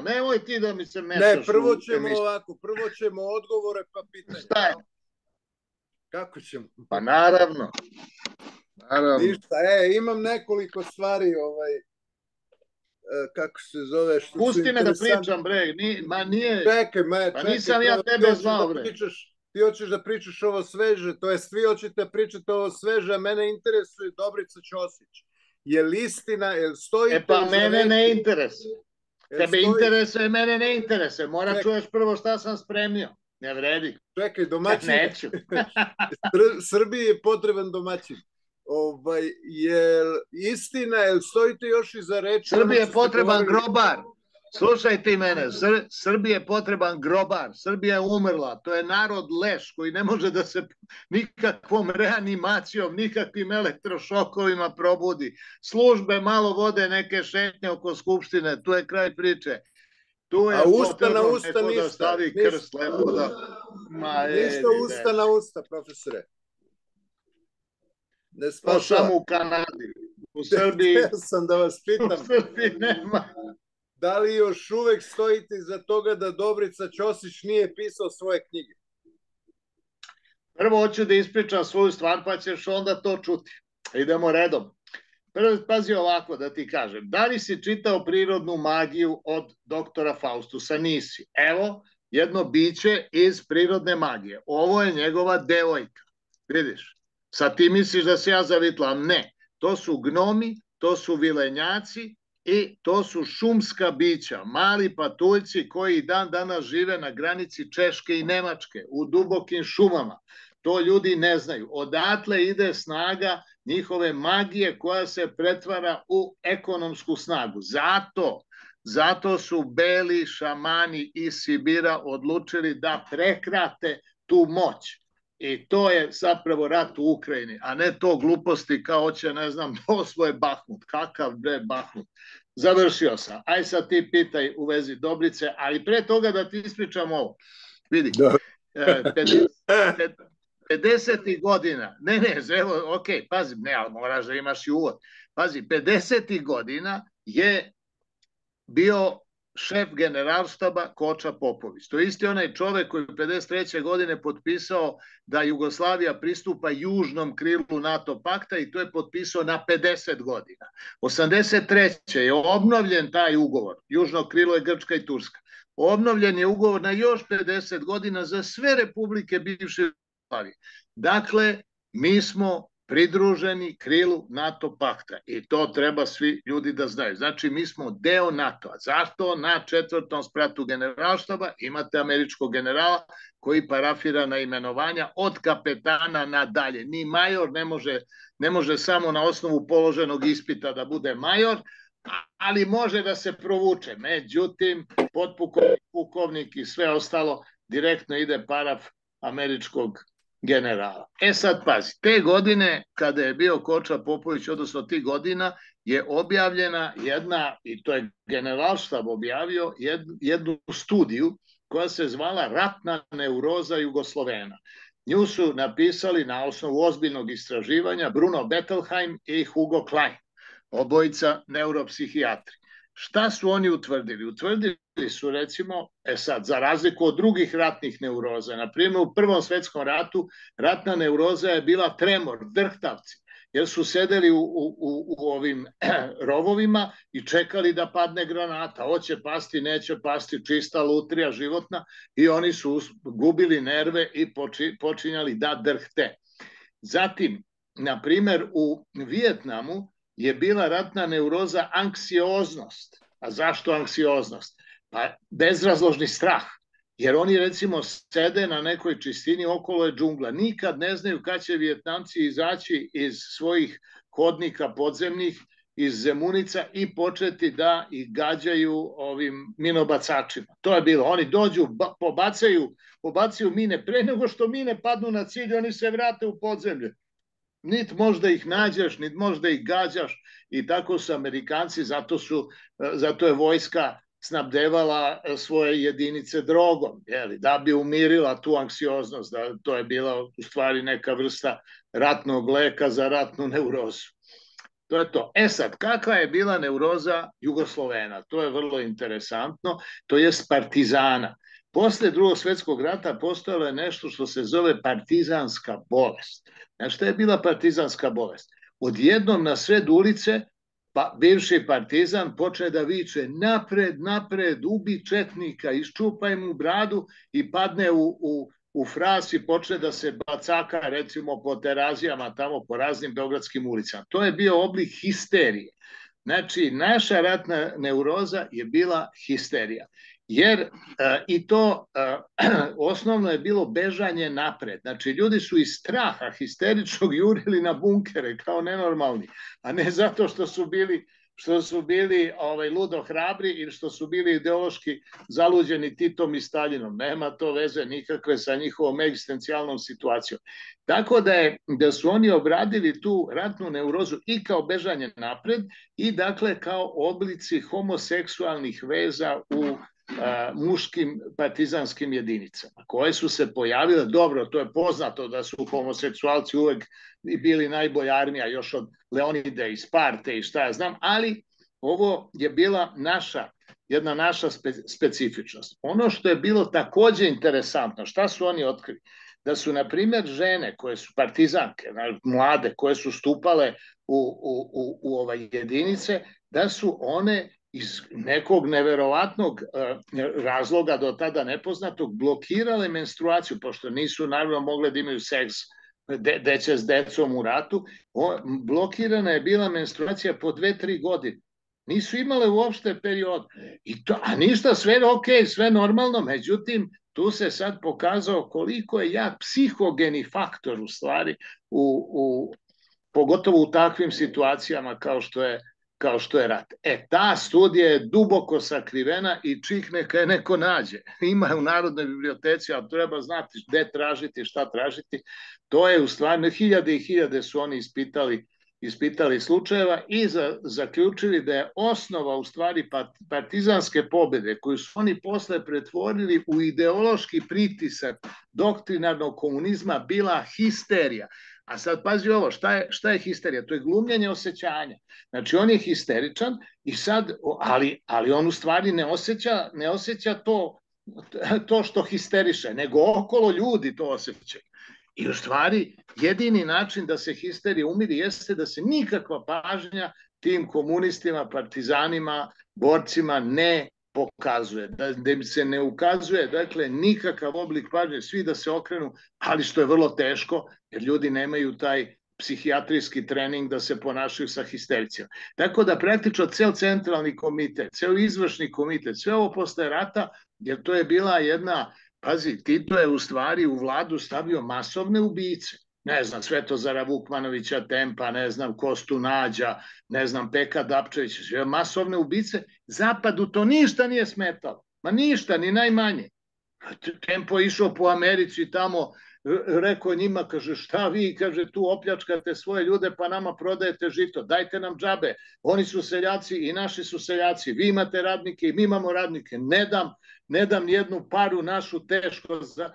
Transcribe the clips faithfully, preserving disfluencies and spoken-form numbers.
Nemoj ti da mi se mešaš. Ne, prvo ćemo ovako, prvo ćemo odgovore pa pitanje. Šta je? Kako ćemo? Pa naravno. Naravno. Ništa, e, imam nekoliko stvari, ovaj, kako se zove, što pusti me da pričam, bre, Ni, ma nije, čekaj, ma, čekaj, pa nisam ja tebe zvao, da bre. Pričaš, ti hoćeš da pričaš ovo sveže, to jest vi hoćete pričati ovo sveže, a mene interesuje Dobrica Ćosić. Je li istina, je li stoji... E pa mene ne interesuje. Tebe stoji... interesuje, mene ne interesuje. Mora čekaj. Čuješ prvo šta sam spremio. Ne vredi. Čekaj, domaćin. Ja neću. Srbiji je potreban domaćin. Ovaj, je istina, je li stojite još iza reči? Srbiji je potreban grobar. Slušaj ti mene, Sr Srbiji je potreban grobar. Srbija je umrla. To je narod leš koji ne može da se nikakvom reanimacijom, nikakvim elektrošokovima probudi. Službe malo vode neke šetnje oko skupštine. Tu je kraj priče. Tu je a usta na usta ništa. Da stavi ništa, krst lepo da... Ma, ništa usta na usta, profesore. Ne spašava. To samo u Kanadi. U Srbiji... Ja sam da vas pitam. U Srbiji nema. Da li još uvek stojite iza toga da Dobrica Ćosić nije pisao svoje knjige? Prvo hoću da ispričam svoju stvar, pa ćeš onda to čuti. Idemo redom. Prvo, pazi ovako da ti kažem. Da li si čitao Prirodnu magiju od doktora Faustusa? Nisi. Evo, jedno biće iz Prirodne magije. Ovo je njegova devojka. Vidiš? Sad ti misliš da se ja zavitlam? Ne. To su gnomi, to su vilenjaci, i to su šumska bića, mali patuljci koji dan danas žive na granici Češke i Nemačke, u dubokim šumama. To ljudi ne znaju. Odatle ide snaga njihove magije koja se pretvara u ekonomsku snagu. Zato, zato su beli šamani iz Sibira odlučili da prekrate tu moć. I to je zapravo rat u Ukrajini, a ne to gluposti kao će, ne znam, da osvoje Bahmut. Kakav bre Bahmut? Završio sam. Aj sad ti pitaj u vezi Dobrice, ali pre toga da ti ispričam ovo. Vidi, pedesetih godina, ne, ne, evo, ok, pazi, ne, ali moraš da imaš i uvod. Pazi, pedesetih godina je bio šef generalštaba Koča Popović. To je isti onaj čovek koji je pedeset treće godine potpisao da Jugoslavija pristupa južnom krilu NATO pakta i to je potpisao na pedeset godina. osamdeset treće je obnovljen taj ugovor. Južno krilo je Grčka i Turska. Obnovljen je ugovor na još pedeset godina za sve republike bivše Jugoslavije. Dakle, mi smo pridruženi krilu NATO pakta i to treba svi ljudi da znaju. Znači, mi smo deo NATO-a. Zašto? Na četvrtom spratu generalštaba imate američkog generala koji parafira na imenovanja od kapetana nadalje. Ni major ne može, ne može samo na osnovu položenog ispita da bude major, ali može da se provuče. Međutim, potpukovnik, pukovnik i sve ostalo direktno ide paraf američkog generala. E sad pazi, te godine kada je bio Koča Popović, odnosno tih godina, je objavljena jedna, i to je generalštab objavio, jednu studiju koja se zvala Ratna neuroza Jugoslovena. Nju su napisali na osnovu ozbiljnog istraživanja Bruno Bettelheim i Hugo Klein, obojica neuropsihijatri. Šta su oni utvrdili? Utvrdili su, recimo, e sad, za razliku od drugih ratnih neuroza, na primjer u Prvom svetskom ratu ratna neuroza je bila tremor, drhtavci, jer su sedeli u, u, u, u ovim rovovima i čekali da padne granata. Hoće pasti, neće pasti, čista lutrija životna i oni su gubili nerve i poči, počinjali da drhte. Zatim, na primjer, u Vijetnamu je bila ratna neuroza anksioznost. A zašto anksioznost? Pa bezrazložni strah. Jer oni recimo sede na nekoj čistini, okolo je džungla. Nikad ne znaju kad će Vijetnamci izaći iz svojih hodnika podzemnih, iz Zemunica i početi da ih gađaju ovim minobacačima. To je bilo. Oni dođu, pobacaju, pobacaju mine. Pre nego što mine padnu na cilj, oni se vrate u podzemlje. Nit možda ih nađeš, nit možda ih gađaš i tako su Amerikanci, zato, su, zato je vojska snabdevala svoje jedinice drogom, jeli, da bi umirila tu anksioznost, da to je bila u stvari neka vrsta ratnog leka za ratnu neurozu. To je to. E sad, kakva je bila neuroza Jugoslovena? To je vrlo interesantno, to je partizana. Posle drugog svjetskog rata postojalo je nešto što se zove partizanska bolest. Znači, šta je bila partizanska bolest? Odjednom na sred ulice pa, bivši partizan počne da viče napred, napred, ubi četnika, iščupaj mu bradu i padne u, u, u fras i počne da se bacaka recimo po terazijama tamo po raznim beogradskim ulicama. To je bio oblik histerije. Znači, naša ratna neuroza je bila histerija. Jer uh, i to uh, osnovno je bilo bežanje napred. Znači, ljudi su iz straha histeričnog jurili na bunkere kao nenormalni, a ne zato što su bili, što su bili ovaj, ludo hrabri ili što su bili ideološki zaluđeni Titom i Stalinom. Nema to veze nikakve sa njihovom egzistencijalnom situacijom. Tako da, je, da su oni obradili tu ratnu neurozu i kao bežanje napred i dakle kao oblici homoseksualnih veza u a, muškim partizanskim jedinicama, koje su se pojavile. Dobro, to je poznato da su homoseksualci uvek bili najbolja armija još od Leonide i Sparte i šta ja znam, ali ovo je bila naša, jedna naša spe, specifičnost. Ono što je bilo takođe interesantno, šta su oni otkrili? Da su, na primjer, žene koje su partizanke, mlade, koje su stupale u, u, u, u ovaj jedinice, da su one iz nekog neverovatnog uh, razloga do tada nepoznatog blokirale menstruaciju, pošto nisu naravno mogle da imaju seks de, deće s decom u ratu. O, blokirana je bila menstruacija po dve, tri godine. Nisu imale uopšte period. I to, a ništa, sve ok, sve normalno, međutim, tu se sad pokazao koliko je jak psihogeni faktor u stvari, u, u, pogotovo u takvim situacijama kao što je kao što je rat. E, ta studija je duboko sakrivena i čih neka je neko nađe. Ima je u Narodnoj biblioteci, ali treba znati gde tražiti, šta tražiti. To je u stvari, hiljade i hiljade su oni ispitali, ispitali slučajeva i za, zaključili da je osnova u stvari partizanske pobede koju su oni posle pretvorili u ideološki pritisak doktrinarnog komunizma bila histerija. A sad pazi ovo, šta je, šta je histerija? To je glumljenje osjećanja. Znači on je histeričan i sad, ali, ali on u stvari ne osjeća, ne osjeća to, to što histeriše, nego okolo ljudi to osjećaju. I u stvari jedini način da se histerija umiri jeste da se nikakva pažnja tim komunistima, partizanima, borcima ne pokazuje, da, da im se ne ukazuje, dakle, nikakav oblik pažnje, svi da se okrenu, ali što je vrlo teško, jer ljudi nemaju taj psihijatrijski trening da se ponašaju sa histericima. Tako da praktično cel centralni komitet, cel izvršni komitet, sve ovo posle rata, jer to je bila jedna, pazi, Tito je u stvari u vladu stavio masovne ubice. Ne znam, Svetozara Vukmanovića Tempa, ne znam, Kostu Nađa, ne znam, Peka Dapčević, masovne ubice. Zapadu to ništa nije smetalo. Ma ništa, ni najmanje. Tempo je išao po Americi tamo, rekao njima, kaže, šta vi, kaže, tu opljačkate svoje ljude, pa nama prodajete žito, dajte nam džabe. Oni su seljaci i naši su seljaci. Vi imate radnike i mi imamo radnike. Ne dam, ne dam jednu paru našu teško za,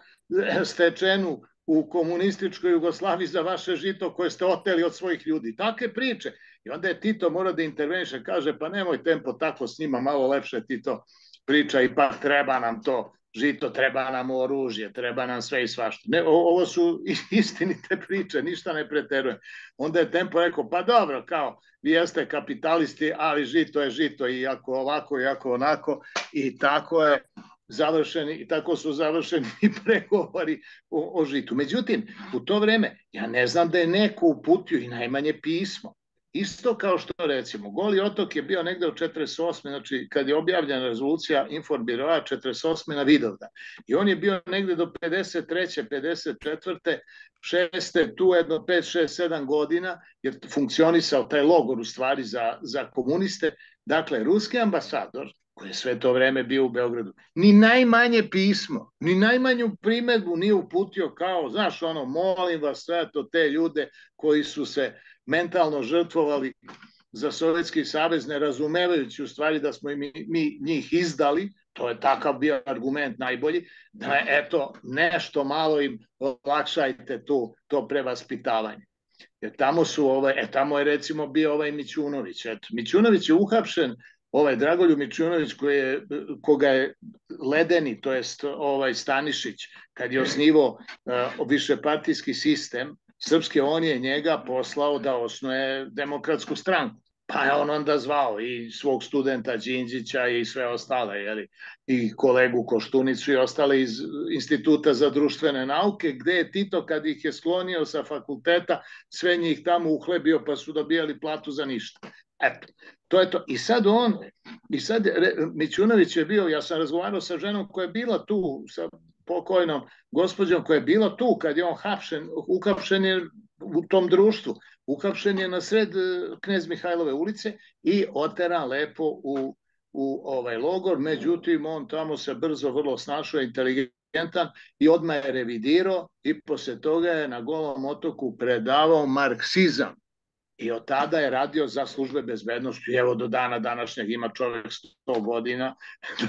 stečenu u komunističkoj Jugoslaviji za vaše žito koje ste oteli od svojih ljudi. Takve priče. I onda je Tito mora da interveniše, kaže, pa nemoj Tempo tako s njima, malo lepše Tito priča, ipak treba nam to žito, treba nam oružje, treba nam sve i svašta. Ne, ovo su istinite priče, ništa ne preterujem. Onda je Tempo rekao, pa dobro, kao, vi jeste kapitalisti, ali žito je žito, i ako ovako, i ako onako, i tako je završeni, i tako su završeni i pregovori o, o žitu. Međutim, u to vreme, ja ne znam da je neko uputio i najmanje pismo. Isto kao što, recimo, Goli otok je bio negde u četrdeset osme, znači kad je objavljena rezolucija Informbiroa četrdeset osme na Vidovdan. I on je bio negde do pedeset treće, pedeset četvrte, šeste, tu jedno pet, šest, sedam godina, jer funkcionisao taj logor u stvari za, za komuniste. Dakle, ruski ambasador, koji je sve to vreme bio u Beogradu, ni najmanje pismo, ni najmanju primedbu nije uputio kao, znaš, ono, molim vas sve to te ljude koji su se mentalno žrtvovali za Sovjetski savez, ne razumevajući u stvari da smo mi, mi njih izdali, to je takav bio argument najbolji, da eto, nešto malo im olakšajte tu, to prevaspitavanje. Jer tamo su, ovaj, e, tamo je recimo bio ovaj Mićunović. Eto, Mićunović je uhapšen, ovaj Dragoljub Mićunović koji je, koga je Ledeni, to jest ovaj Stanišić, kad je osnivao uh, višepartijski sistem srpske, on je njega poslao da osnuje Demokratsku stranku. Pa je on onda zvao i svog studenta Đinđića i sve ostale, jeli, i kolegu Koštunicu i ostale iz Instituta za društvene nauke, gde je Tito, kad ih je sklonio sa fakulteta, sve njih tamo uhlebio, pa su dobijali platu za ništa. Eto, to je to. I sad on, i sad Mićunović je bio, ja sam razgovarao sa ženom koja je bila tu, sa pokojnom gospođom koja je bila tu kad je on hapšen, uhapšen je u tom društvu, uhapšen je na sred Knez Mihajlove ulice i oteran lepo u, u ovaj logor, međutim on tamo se brzo vrlo snašao, inteligentan i odmah je revidirao i posle toga je na Golom otoku predavao marksizam. I od tada je radio za službe bezbednosti. Evo do dana današnjeg ima čovjek sto godina.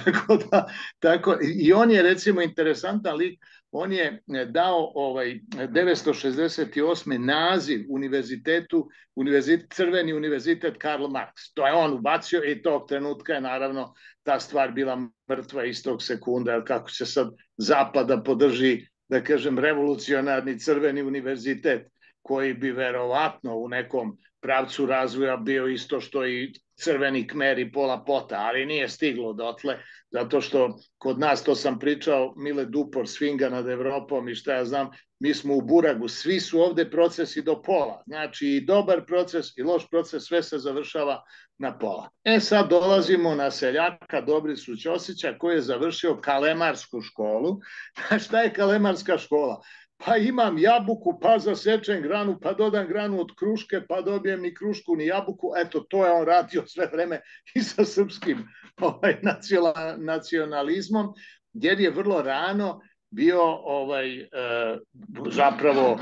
tako da, tako, i on je recimo interesantan lik. On je dao ovaj devetsto šezdeset osme naziv univerzitetu, univerzit, Crveni univerzitet Karl Marx. To je on ubacio i tog trenutka je naravno ta stvar bila mrtva istog sekunda, jer kako se sad zapada podrži, da kažem, revolucionarni Crveni univerzitet, koji bi verovatno u nekom pravcu razvoja bio isto što i Crveni Kmer i Pola Pota, ali nije stiglo dotle, zato što kod nas, to sam pričao, Mile Dupor svinga nad Evropom i šta ja znam, mi smo u buragu, svi su ovde procesi do pola, znači i dobar proces i loš proces, sve se završava na pola. E sad dolazimo na seljaka Dobricu Ćosića koji je završio Kalemarsku školu. Šta je Kalemarska škola? Pa imam jabuku, pa zasečem granu, pa dodam granu od kruške, pa dobijem ni krušku, ni jabuku. Eto, to je on radio sve vreme i sa srpskim ovaj, nacionalizmom, jer je vrlo rano bio ovaj, e, zapravo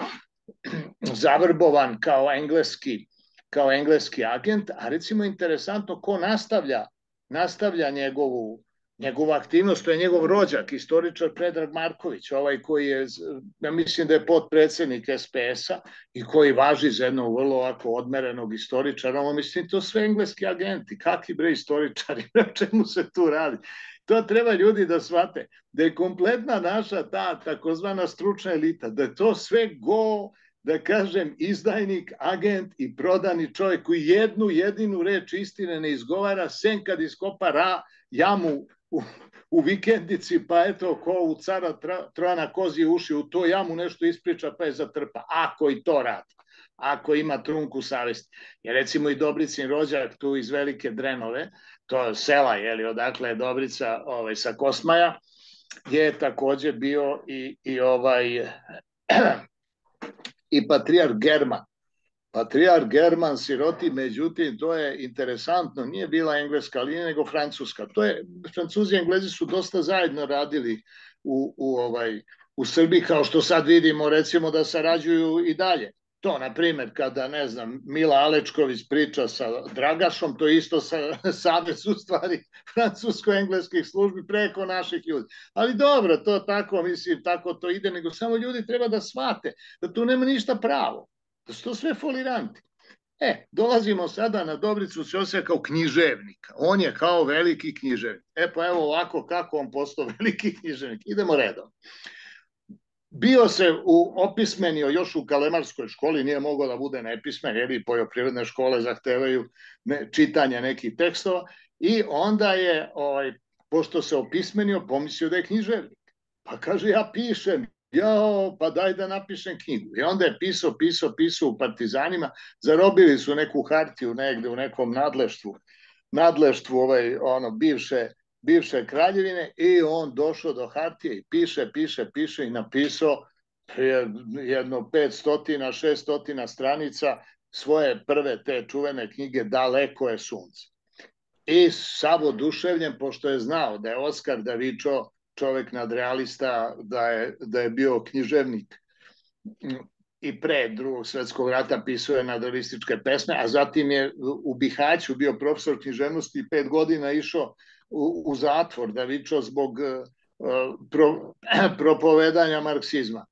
zavrbovan kao engleski, kao engleski agent, a recimo interesantno ko nastavlja, nastavlja njegovu Njegova aktivnost, to je njegov rođak, istoričar Predrag Marković, ovaj koji je, ja mislim da je potpredsednik es pe es-a i koji važi za jednog vrlo ovako odmerenog istoričara, ono mislim to sve engleski agenti, kakvi bre istoričari, o čemu se tu radi. To treba ljudi da shvate, da je kompletna naša ta takozvana stručna elita, da je to sve go, da kažem, izdajnik, agent i prodani čovjek koji jednu jedinu reč istine ne izgovara, sem kad iskopa ra, jamu U, u vikendici, pa eto, ko u cara Trojana kozije uši, u to jamu nešto ispriča, pa je zatrpa. Ako i to radi, ako ima trunku savesti. Jer recimo i Dobricin rođak tu iz Velike Drenove, to je sela, jeli, odakle je Dobrica ovaj, sa Kosmaja, je takođe bio i, i ovaj i patrijarh German. Patrijarh German siroti, međutim, to je interesantno, nije bila engleska linija, nego francuska. To je, Francuzi i Englezi su dosta zajedno radili u, u, ovaj, u Srbiji, kao što sad vidimo, recimo, da sarađuju i dalje. To, na primjer, kada, ne znam, Mila Alečković priča sa Dragašom, to isto sa, savez u stvari francusko-engleskih službi preko naših ljudi. Ali dobro, to tako, mislim, tako to ide, nego samo ljudi treba da shvate da tu nema ništa pravo. Da su to sve foliranti. E, dolazimo sada na Dobricu Ćosića kao književnika. On je kao veliki književnik. E pa evo ovako kako on postao veliki književnik. Idemo redom. Bio se u, opismenio još u Kalemarskoj školi, nije mogao da bude nepismen, jer i poljoprivredne škole zahtevaju ne, čitanje nekih tekstova, i onda je, ovaj, pošto se opismenio, pomislio da je književnik. Pa kaže, ja pišem, jao, pa daj da napišem knjigu. I onda je pisao, pisao, pisao u Partizanima, zarobili su neku hartiju negde u nekom nadleštvu, nadleštvu ovaj, ono, bivše, bivše kraljevine, i on došao do hartije i piše, piše, piše i napisao jedno petstotina, šeststotina stranica svoje prve te čuvene knjige Daleko je sunce. I sav oduševljen, pošto je znao da je Oskar Davičo čovek nadrealista, da je, da je bio književnik i pre Drugog svetskog rata pisao je nadrealističke pesme, a zatim je u Bihaću bio profesor književnosti i pet godina išao u, u zatvor Davičo zbog uh, pro, propovedanja marksizma.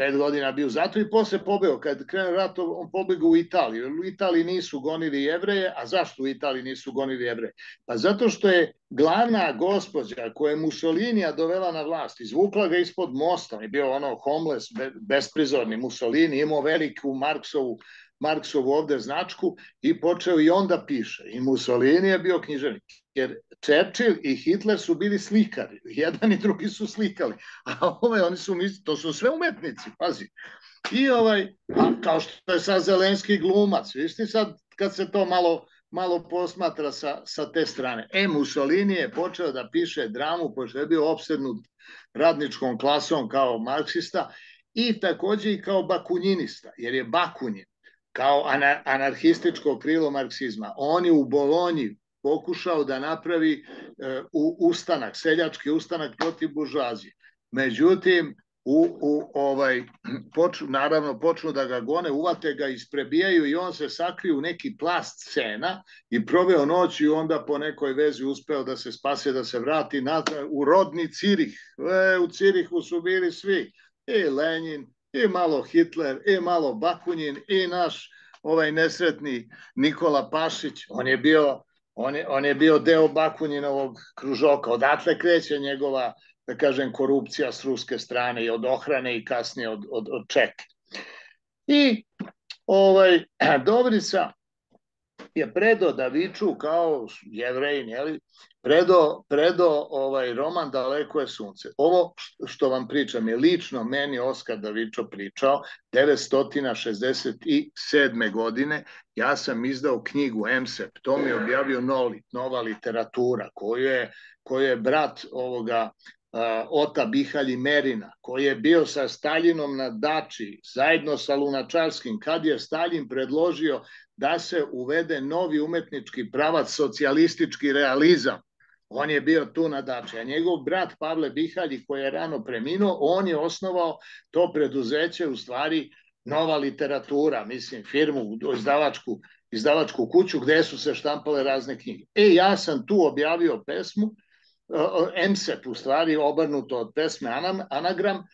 pet godina bio u zatvoru i posle pobeo. Kad krene rat, on pobegao u Italiju. U Italiji nisu gonili Jevreje, a zašto u Italiji nisu gonili Jevreje? Pa zato što je glavna gospođa koja je Mussolinija dovela na vlast, izvukla ga ispod mosta, on je bio ono homeless, besprizorni Mussolini, imao veliku Marksovu, Marksovu ovde značku i počeo i onda piše. I Mussolini je bio književnik. Jer Churchill i Hitler su bili slikari. Jedan i drugi su slikali. A ove, oni su, to su sve umetnici, pazi. I ovaj, a kao što je sad Zelenski glumac, viš ti sad kad se to malo, malo posmatra sa, sa te strane. E, Mussolini je počeo da piše dramu, pošto je bio opsednut radničkom klasom kao marksista i takođe i kao bakunjinista, jer je Bakunin kao anarhističko krilo marksizma. On je u Bolonji pokušao da napravi e, u, ustanak, seljački ustanak protiv buržoazije. Međutim, u, u, ovaj, poču, naravno počnu da ga gone, uvate ga, isprebijaju i on se sakriju u neki plast scena i proveo noć i onda po nekoj vezi uspeo da se spase, da se vrati nazad u rodni Cirih. E, u Cirihu su bili svi, i Lenin, i malo Hitler, i malo Bakunin, i naš ovaj nesretni Nikola Pašić. On je bio, on je, on je bio deo Bakuninovog kružoka. Odatle kreće njegova, da kažem, korupcija s ruske strane i od ohrane i kasnije od, od, od Čeke. I ovaj, Dobrica je predo Daviču kao Jevrejin, jeli? Predo, predo ovaj roman Daleko je sunce. Ovo što vam pričam je lično meni Oskar Davičo pričao devetsto šezdeset sedme. godine. Ja sam izdao knjigu M S E P, to mi je objavio Nolit, Nova literatura, koju je, koju je brat ovoga uh, Ota Bihalji Merina, koji je bio sa Staljinom na dači, zajedno sa Lunačarskim, kad je Staljin predložio da se uvede novi umetnički pravac, socijalistički realizam. On je bio tu na dači, a njegov brat Pavle Bihalji, koji je rano preminuo, on je osnovao to preduzeće, u stvari Nova literatura, mislim, firmu, izdavačku, izdavačku kuću gde su se štampale razne knjige. E, ja sam tu objavio pesmu, M S E P, u stvari obrnuto od pesme Anagram,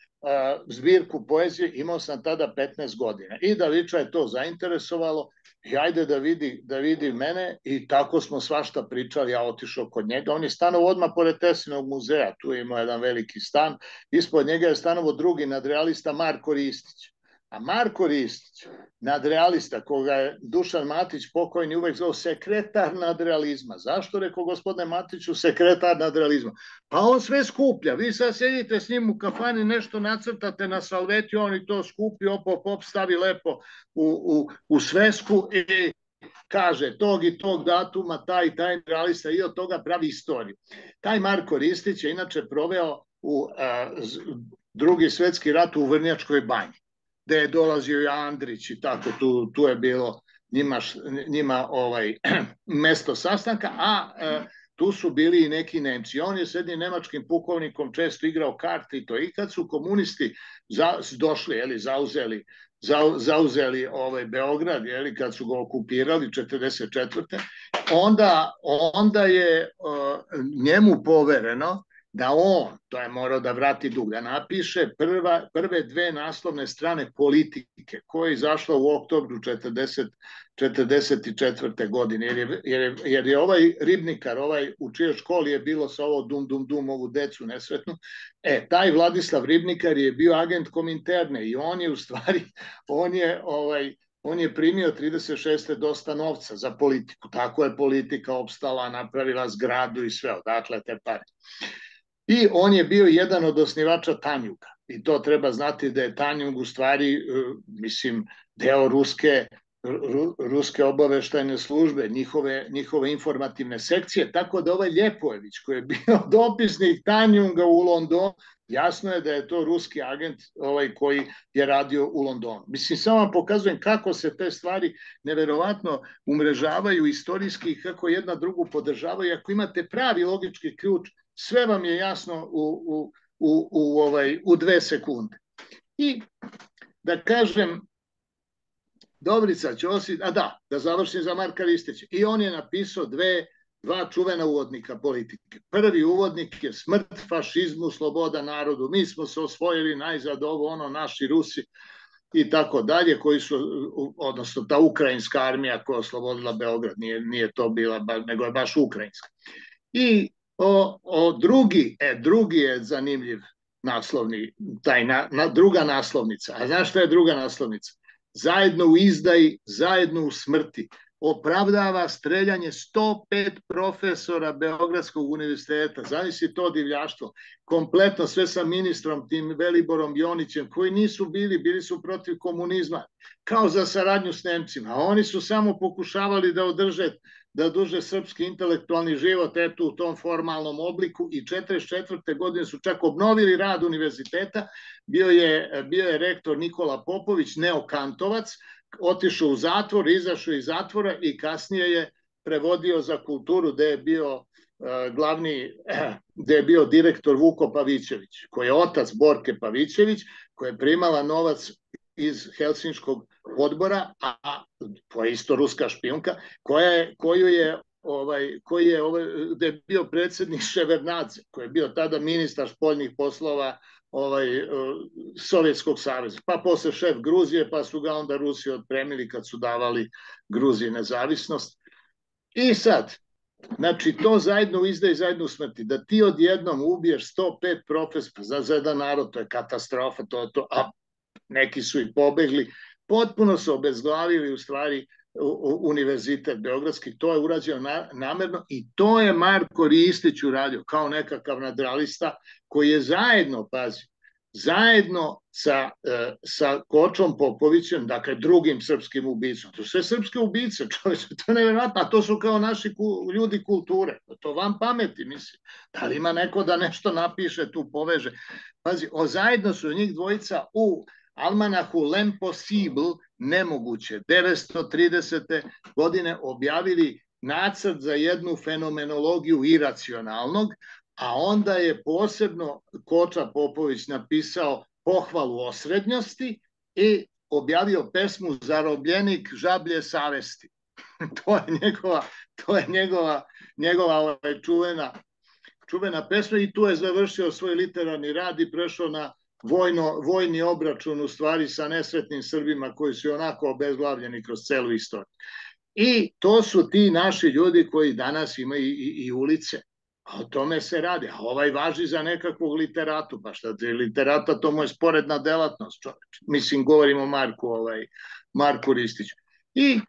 zbirku poezije, imao sam tada petnaest godina. I Daviča je to zainteresovalo, i ajde da vidi, da vidi mene, i tako smo svašta pričali, ja otišao kod njega. On je stanovao odmah pored Tesinog muzeja, tu je imao jedan veliki stan, ispod njega je stanovao drugi nadrealista Marko Ristić. A Marko Ristić, nadrealista, koga je Dušan Matić pokojni uvek zvao sekretar nadrealizma. Zašto, rekao gospodine Matiću, sekretar nadrealizma? Pa on sve skuplja. Vi sad sedite s njim u kafani, nešto nacrtate na salveti, on i to skupi, op, op, op, stavi lepo u, u, u svesku i kaže tog i tog datuma, taj taj nadrealista, i od toga pravi istoriju. Taj Marko Ristić je inače proveo u a, drugi svetski rat u Vrnjačkoj banji, gde je dolazio i Andrić i tako, tu, tu je bilo njima, njima ovaj, mesto sastanka, a e, tu su bili i neki Nemci. On je s jednim nemačkim pukovnikom često igrao karte i to. I kad su komunisti za, došli, jeli, zauzeli, za, zauzeli ovaj Beograd, jeli, kad su ga okupirali četrdeset četvrte. Onda, onda je o, njemu povereno da on, to je morao da vrati dug, da napiše prva, prve dve naslovne strane Politike, koja je izašla u oktobru četrdeset četvrte. godine, jer je, jer, je, jer je ovaj ribnikar, ovaj u čijoj školi je bilo sa ovo dum dum dum, ovu decu nesretnu, e, taj Vladislav Ribnikar je bio agent Kominterne i on je u stvari, on je ovaj, on je primio trideset šeste dosta novca za Politiku, tako je Politika opstala, napravila zgradu i sve, odatle te pare. I on je bio jedan od osnivača Tanjuga. I to treba znati da je Tanjug u stvari, mislim, deo ruske, ru, ruske obaveštajne službe, njihove, njihove informativne sekcije, tako da ovaj Ljepojević, koji je bio dopisnik Tanjuga u Londonu, jasno je da je to ruski agent ovaj, koji je radio u Londonu. Mislim, samo vam pokazujem kako se te stvari neverovatno umrežavaju istorijski i kako jedna drugu podržavaju. Ako imate pravi logički ključ, sve vam je jasno u, u, u, u, ovaj, u dve sekunde. I da kažem, Dobrica Ćosić, a da, da završim za Marka Ristića. I on je napisao dve dva čuvena uvodnika politike. Prvi uvodnik je smrt fašizmu, sloboda narodu. Mi smo se osvojili najzad ovo, ono, naši Rusi i tako dalje, koji su, odnosno ta ukrajinska armija koja je oslobodila Beograd, nije, nije to bila, nego je baš ukrajinska. I o, o drugi, e, drugi je zanimljiv naslovni, taj na, na, druga naslovnica. A znaš šta je druga naslovnica? Zajedno u izdaji, zajedno u smrti. Opravdava streljanje sto pet profesora Beogradskog univerziteta. Zamisli to divljaštvo. Kompletno sve sa ministrom, tim Veliborom Jonićem, koji nisu bili, bili su protiv komunizma, kao za saradnju s Nemcima. A oni su samo pokušavali da održe, da duže srpski intelektualni život eto u tom formalnom obliku i četrdeset četvrte godine su čak obnovili rad univerziteta. Bio je, bio je rektor Nikola Popović, neokantovac, otišao u zatvor, izašao iz zatvora i kasnije je prevodio za kulturu gde je bio uh, glavni, gde je bio direktor Vuko Pavićević, koji je otac Borke Pavićević, koja je primala novac iz Helsinškog odbora, a to je isto ruska špijunka, koja je, koju je ovaj, koji je ovaj, gde je bio predsjednik Ševernadze, koji je bio tada ministar spoljnih poslova ovaj, Sovjetskog saveza, pa posle šef Gruzije, pa su ga onda Rusi otpremili kad su davali Gruziji nezavisnost. I sad, znači to zajedno u izdaji, zajedno u smrti, da ti odjednom ubiješ sto pet profesora za, za jedan narod, to je katastrofa, to, to, a neki su i pobegli, potpuno su obezglavili u stvari univerzitet Beogradski, to je urađeno na, namerno i to je Marko Ristić uradio kao nekakav nadralista koji je zajedno, pazi, zajedno sa, sa Kočom Popovićem, dakle drugim srpskim ubicom, to su sve srpske ubice, čovječe, to je nevjerojatno, a to su kao naši ku, ljudi kulture, to vam pameti, mislim, da li ima neko da nešto napiše, tu poveže, pazi, o, zajedno su njih dvojica u almanahu L'Impossible, nemoguće, devetsto tridesete godine objavili nacrt za jednu fenomenologiju iracionalnog, a onda je posebno Koča Popović napisao pohvalu osrednjosti i objavio pesmu Zarobljenik žablje savesti. to je njegova, to je njegova, njegova ovaj, čuvena, čuvena pesma i tu je završio svoj literarni rad i prešao na Vojno, vojni obračun u stvari sa nesretnim Srbima koji su onako obezglavljeni kroz celu istoriju. I to su ti naši ljudi koji danas imaju i, i, i ulice. A o tome se radi. A ovaj važi za nekakvog literatu. Pa šta je literata, to mu je sporedna delatnost. Čoveč. Mislim, govorimo o Marku, ovaj, Marku Ristiću. I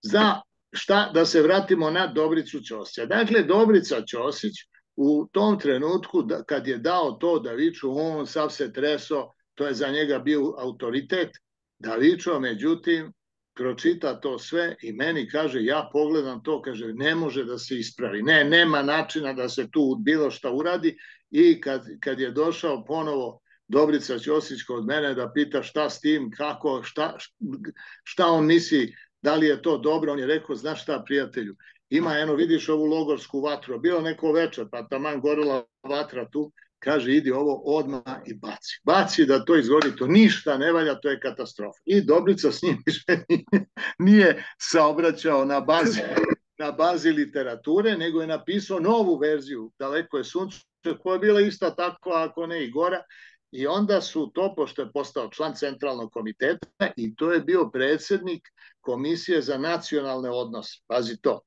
za šta, da se vratimo na Dobricu Ćosića. Dakle, Dobrica Ćosić u tom trenutku da, kad je dao to Daviču, on sav se treso, to je za njega bio autoritet. Davičo, međutim, pročita to sve i meni kaže, ja pogledam to, kaže, ne može da se ispravi. Ne, nema načina da se tu bilo šta uradi i kad, kad je došao ponovo Dobrica Ćosić kod mene da pita šta s tim, kako, šta, šta on misli, da li je to dobro, on je rekao, znaš šta, prijatelju, ima, eno, vidiš ovu logorsku vatru, bilo neko večer, pa taman gorila vatra tu, kaže, idi ovo odmah i baci. Baci da to izgori, to ništa ne valja, to je katastrofa. I Dobrica s njim nije saobraćao na bazi, na bazi literature, nego je napisao novu verziju, Daleko je sunce, koja je bila ista tako, ako ne i gora, i onda su to, pošto je postao član centralnog komiteta, i to je bio predsjednik Komisije za nacionalne odnose, pazi to,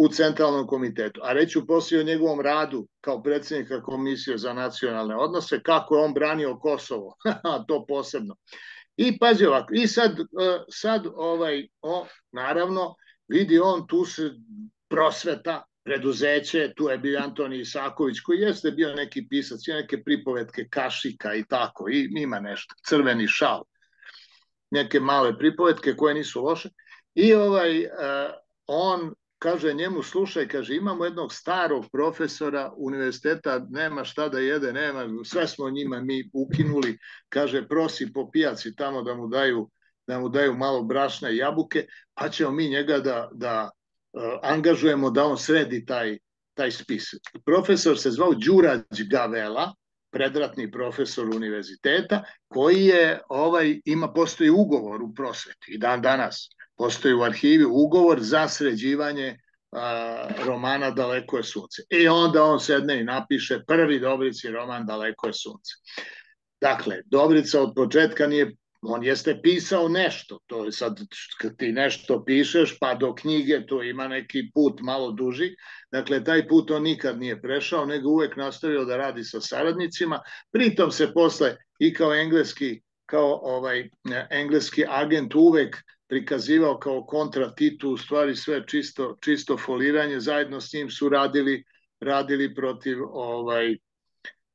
u centralnom komitetu. A reću poslije o njegovom radu kao predsjednika Komisije za nacionalne odnose, kako je on branio Kosovo, to posebno. I pazi ovako, i sad, sad ovaj, o, naravno, vidi on tu se prosveta, preduzeće, tu je bio Antoni Isaković, koji jeste bio neki pisac, i neke pripovetke Kašika i tako, i ima nešto, Crveni šal, neke male pripovetke koje nisu loše. I ovaj, on kaže njemu, slušaj, kaže, imamo jednog starog profesora univerziteta, nema šta da jede, nema, sve smo njima mi ukinuli, kaže, prosi po pijaci tamo da mu daju, da mu daju malo brašna i jabuke, pa ćemo mi njega da, da uh, angažujemo da on sredi taj, taj spis. Profesor se zvao Đurađ Gavela, predratni profesor univerziteta, koji je, ovaj, ima, postoji ugovor u prosveti i dan danas, postoji u arhivi ugovor za sređivanje a, romana Daleko je sunce. I onda on sedne i napiše prvi Dobrici roman Daleko je sunce. Dakle, Dobrica od početka nije, on jeste pisao nešto, to je sad kad ti nešto pišeš pa do knjige to ima neki put malo duži, dakle taj put on nikad nije prešao, nego uvek nastavio da radi sa saradnicima, pritom se posle i kao engleski, kao ovaj engleski agent uvek prikazivao kao kontra Titu, u stvari sve čisto, čisto foliranje, zajedno s njim su radili, radili protiv ovaj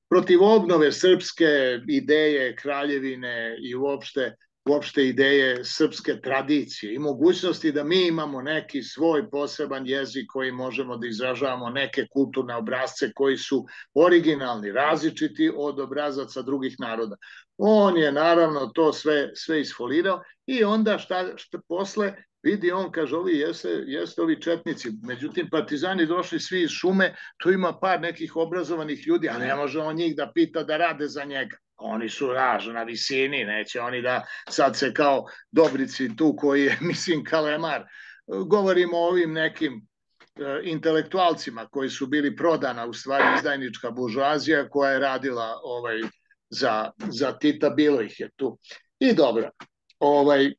protiv obnove srpske ideje kraljevine i uopšte, uopšte ideje srpske tradicije i mogućnosti da mi imamo neki svoj poseban jezik koji možemo da izražavamo neke kulturne obrazce koji su originalni, različiti od obrazaca drugih naroda. On je naravno to sve, sve isfolirao i onda šta, šta posle vidi on, kaže, ovi jeste, jeste ovi četnici, međutim partizani došli svi iz šume, tu ima par nekih obrazovanih ljudi, a ne može on njih da pita da rade za njega. Oni su raž na visini, neće oni da sad se kao Dobrici tu koji je, mislim, kalemar. Govorimo o ovim nekim e, intelektualcima koji su bili prodana, u stvari izdajnička buržoazija koja je radila ovaj, za, za Tita, bilo ih je tu. I dobro, ovaj,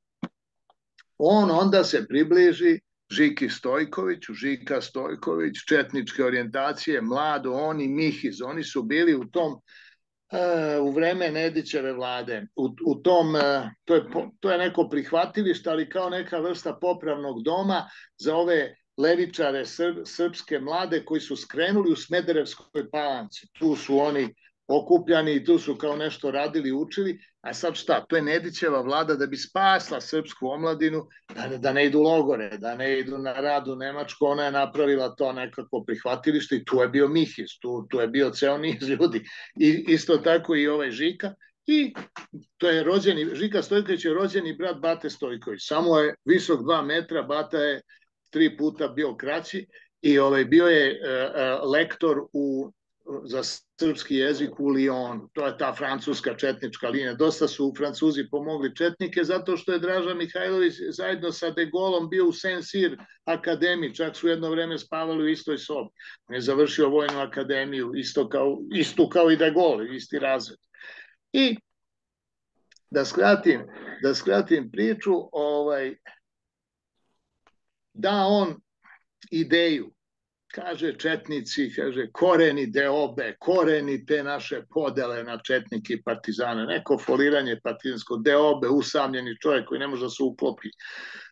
on onda se približi Žiki Stojkoviću, Žika Stojković, četničke orijentacije, mlado, oni Mihiz, oni su bili u tom, uh, u vreme Nedićeve vlade, u, u tom, uh, to, je, to je neko prihvatilište, ali kao neka vrsta popravnog doma za ove levičare srp, srpske mlade koji su skrenuli u Smederevskoj Palanci. Tu su oni okupljani i tu su kao nešto radili, učili, a sad šta, to je Nedićeva vlada da bi spasla srpsku omladinu, da, da ne idu logore, da ne idu na rad u Nemačku, ona je napravila to nekako prihvatilište i tu je bio Mihiz, tu, tu je bio ceo niz ljudi. I isto tako i ovaj Žika, i to je rođeni, Žika Stojković je rođeni brat Bate Stojković, samo je visok dva metra, Bata je tri puta bio kraći i ovaj, bio je uh, lektor u za srpski jezik u Lyonu. To je ta francuska četnička linija. Dosta su Francuzi pomogli četnike zato što je Draža Mihajlović zajedno sa De Gaulleom bio u Saint-Cyr akademiji, čak su jedno vreme spavali u istoj sobi. On je završio vojnu akademiju, isto kao, isto kao i De Gaulle, isti razred. I da skratim, da skratim priču, ovaj, da on ideju, kaže četnici, kaže koreni deobe, koreni te naše podele na četnike i partizane, neko foliranje partizansko, deobe, usamljeni čovjek koji ne može da se uklopi,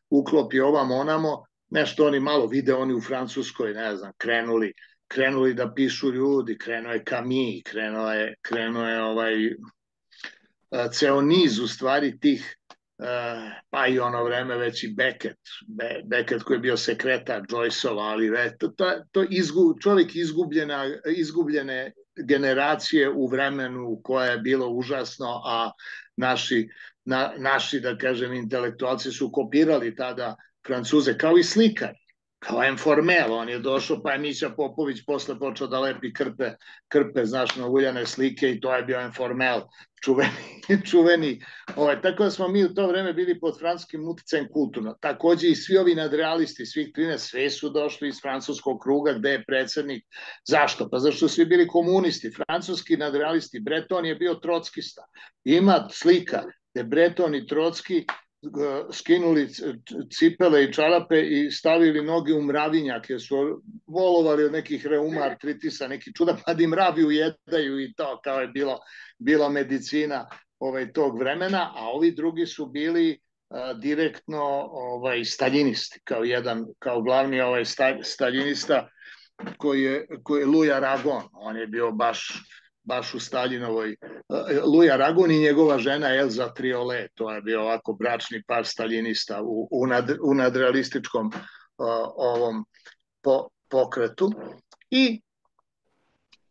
uklopi ovamo onamo, nešto oni malo vide, oni u Francuskoj, ne znam, krenuli, krenuli da pišu ljudi, krenuo je Camus, krenuo je, krenuo je ovaj, ceo niz u stvari tih, pa i ono vreme već i Beckett, Be, Beckett koji je bio sekretar Joyceova, ali to, to, to izgu, čovjek izgubljena, izgubljene generacije u vremenu koje je bilo užasno, a naši, na, naši da kažem, intelektualci su kopirali tada Francuze, kao i slikari, kao Informel, on je došao, pa je Mića Popović posle počeo da lepi krpe, krpe, znaš, na uljane slike i to je bio Informel, čuveni, čuveni. Ovaj, tako da smo mi u to vreme bili pod francuskim uticajem kulturno. Takođe i svi ovi nadrealisti, svih trinaest, sve su došli iz francuskog kruga gde je predsednik. Zašto? Pa zašto su svi bili komunisti, francuski nadrealisti. Breton je bio trockista. Ima slika gde Breton i Trocki skinuli cipele i čarape i stavili noge u mravinjak, jer su volovali od nekih reuma, artritisa, neki čuda, pa da im mravi ujedaju i to, kao je bilo, bila medicina ovaj, tog vremena, a ovi drugi su bili a, direktno ovaj, staljinisti, kao jedan, kao glavni ovaj, staljinista koji je, koji je Louis Aragon, on je bio baš baš u Staljinovoj, Louis Aragon i njegova žena Elza Triolet, to je bio ovako bračni par staljinista u, u, nad, u nadrealističkom uh, ovom po, pokretu. I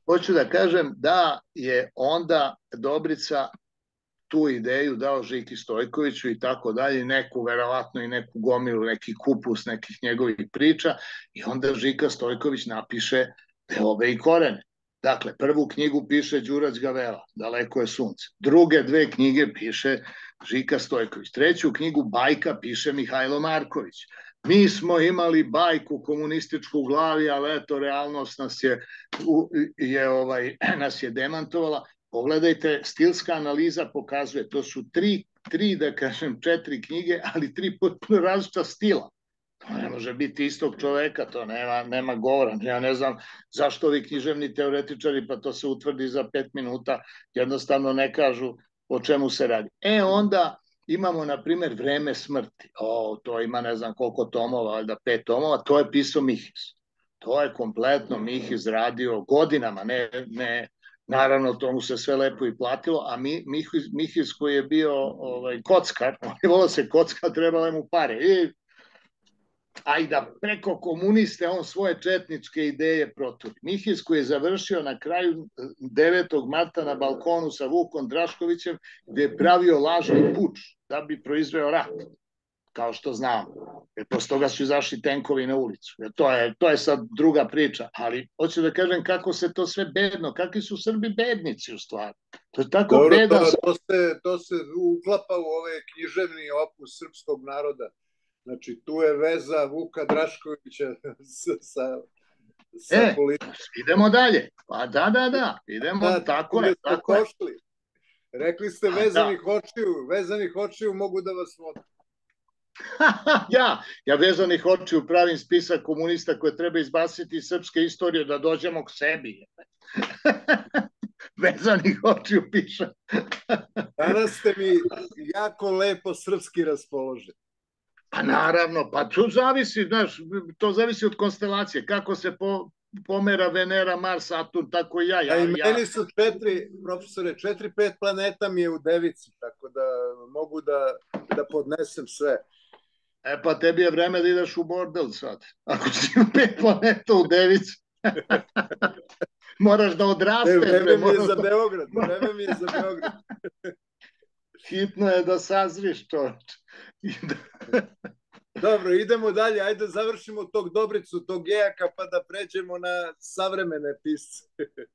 hoću da kažem da je onda Dobrica tu ideju dao Žiki Stojkoviću i tako dalje, neku, verovatno i neku gomilu, neki kupus nekih njegovih priča i onda Žika Stojković napiše Deobe i korene. Dakle, prvu knjigu piše Đurađ Gavela, Daleko je sunce. Druge dve knjige piše Žika Stojković. Treću knjigu Bajka piše Mihajlo Marković. Mi smo imali bajku komunističku u glavi, ali eto, realnost nas je, je, ovaj, nas je demantovala. Pogledajte, stilska analiza pokazuje, to su tri, tri, da kažem, četiri knjige, ali tri potpuno različita stila. To ne može biti istog čoveka, to nema, nema govora. Ja ne znam zašto ovi književni teoretičari, pa to se utvrdi za pet minuta, jednostavno ne kažu o čemu se radi. E onda imamo, na primjer, Vreme smrti. O, to ima ne znam koliko tomova, valjda pet tomova, to je pisao Mihis. To je kompletno Mihis radio godinama, ne, ne, naravno tomu se sve lepo i platilo, a mi, Mihis, Mihis koji je bio ovaj, kockar, on je volao se kocka, trebalo mu pare. I a i da preko komuniste on svoje četničke ideje proturi. Mihis koji je završio na kraju devetog marta na balkonu sa Vukom Draškovićem, gde je pravio lažni puč da bi proizveo rat, kao što znamo. Jer posle toga su izašli tenkovi na ulicu. Jer to je, to je sad druga priča, ali hoću da kažem kako se to sve bedno, kakvi su Srbi bednici u stvari. To je tako Dobro, bedan... To, to, se, to se uklapa u ove književni opus srpskog naroda. Znači, tu je veza Vuka Draškovića sa, sa, sa e, politikom. Idemo dalje. Pa da, da, da. Idemo, da, tako je. Tako je. Rekli ste vezanih da. očiju. Vezanih očiju mogu da vas vode. ja, ja vezanih očiju pravim spisak komunista koje treba izbaciti iz srpske istorije da dođemo k sebi. Vezanih očiju pišem. Danas ste mi jako lepo srpski raspoloženi. Pa naravno, pa to zavisi, znaš, to zavisi od konstelacije. Kako se po, pomera Venera, Mars, Saturn, tako i ja. ja A i ja... meni su četiri, profesore, četiri, pet planeta mi je u Devici, tako da mogu da, da podnesem sve. E pa tebi je vreme da ideš u bordel sad. Ako si u pet planeta u Devici. Moraš da odrasteš. Vreme mi je za Beograd, vreme mi je za Beograd. Hitno je da sazriš, čovječ. Dobro, idemo dalje, ajde završimo tog Dobricu, tog Gejaka, pa da pređemo na savremene pisce.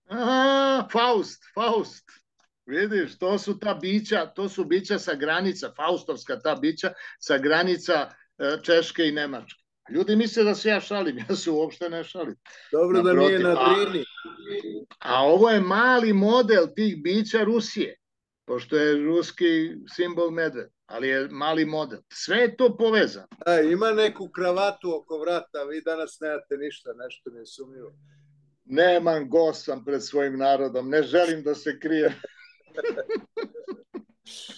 Aha, Faust, Faust. Vidiš, to su ta bića, to su bića sa granica, faustovska ta bića, sa granica Češke i Nemačke. Ljudi misle da se ja šalim, ja se uopšte ne šalim. Dobro da nije na Drini. A, a ovo je mali model tih bića Rusije, pošto je ruski simbol medved, ali je mali model. Sve je to povezano. A, ima neku kravatu oko vrata, vi danas nemate ništa, nešto mi je sumnjivo. Nemam, gost sam pred svojim narodom, ne želim da se krijem.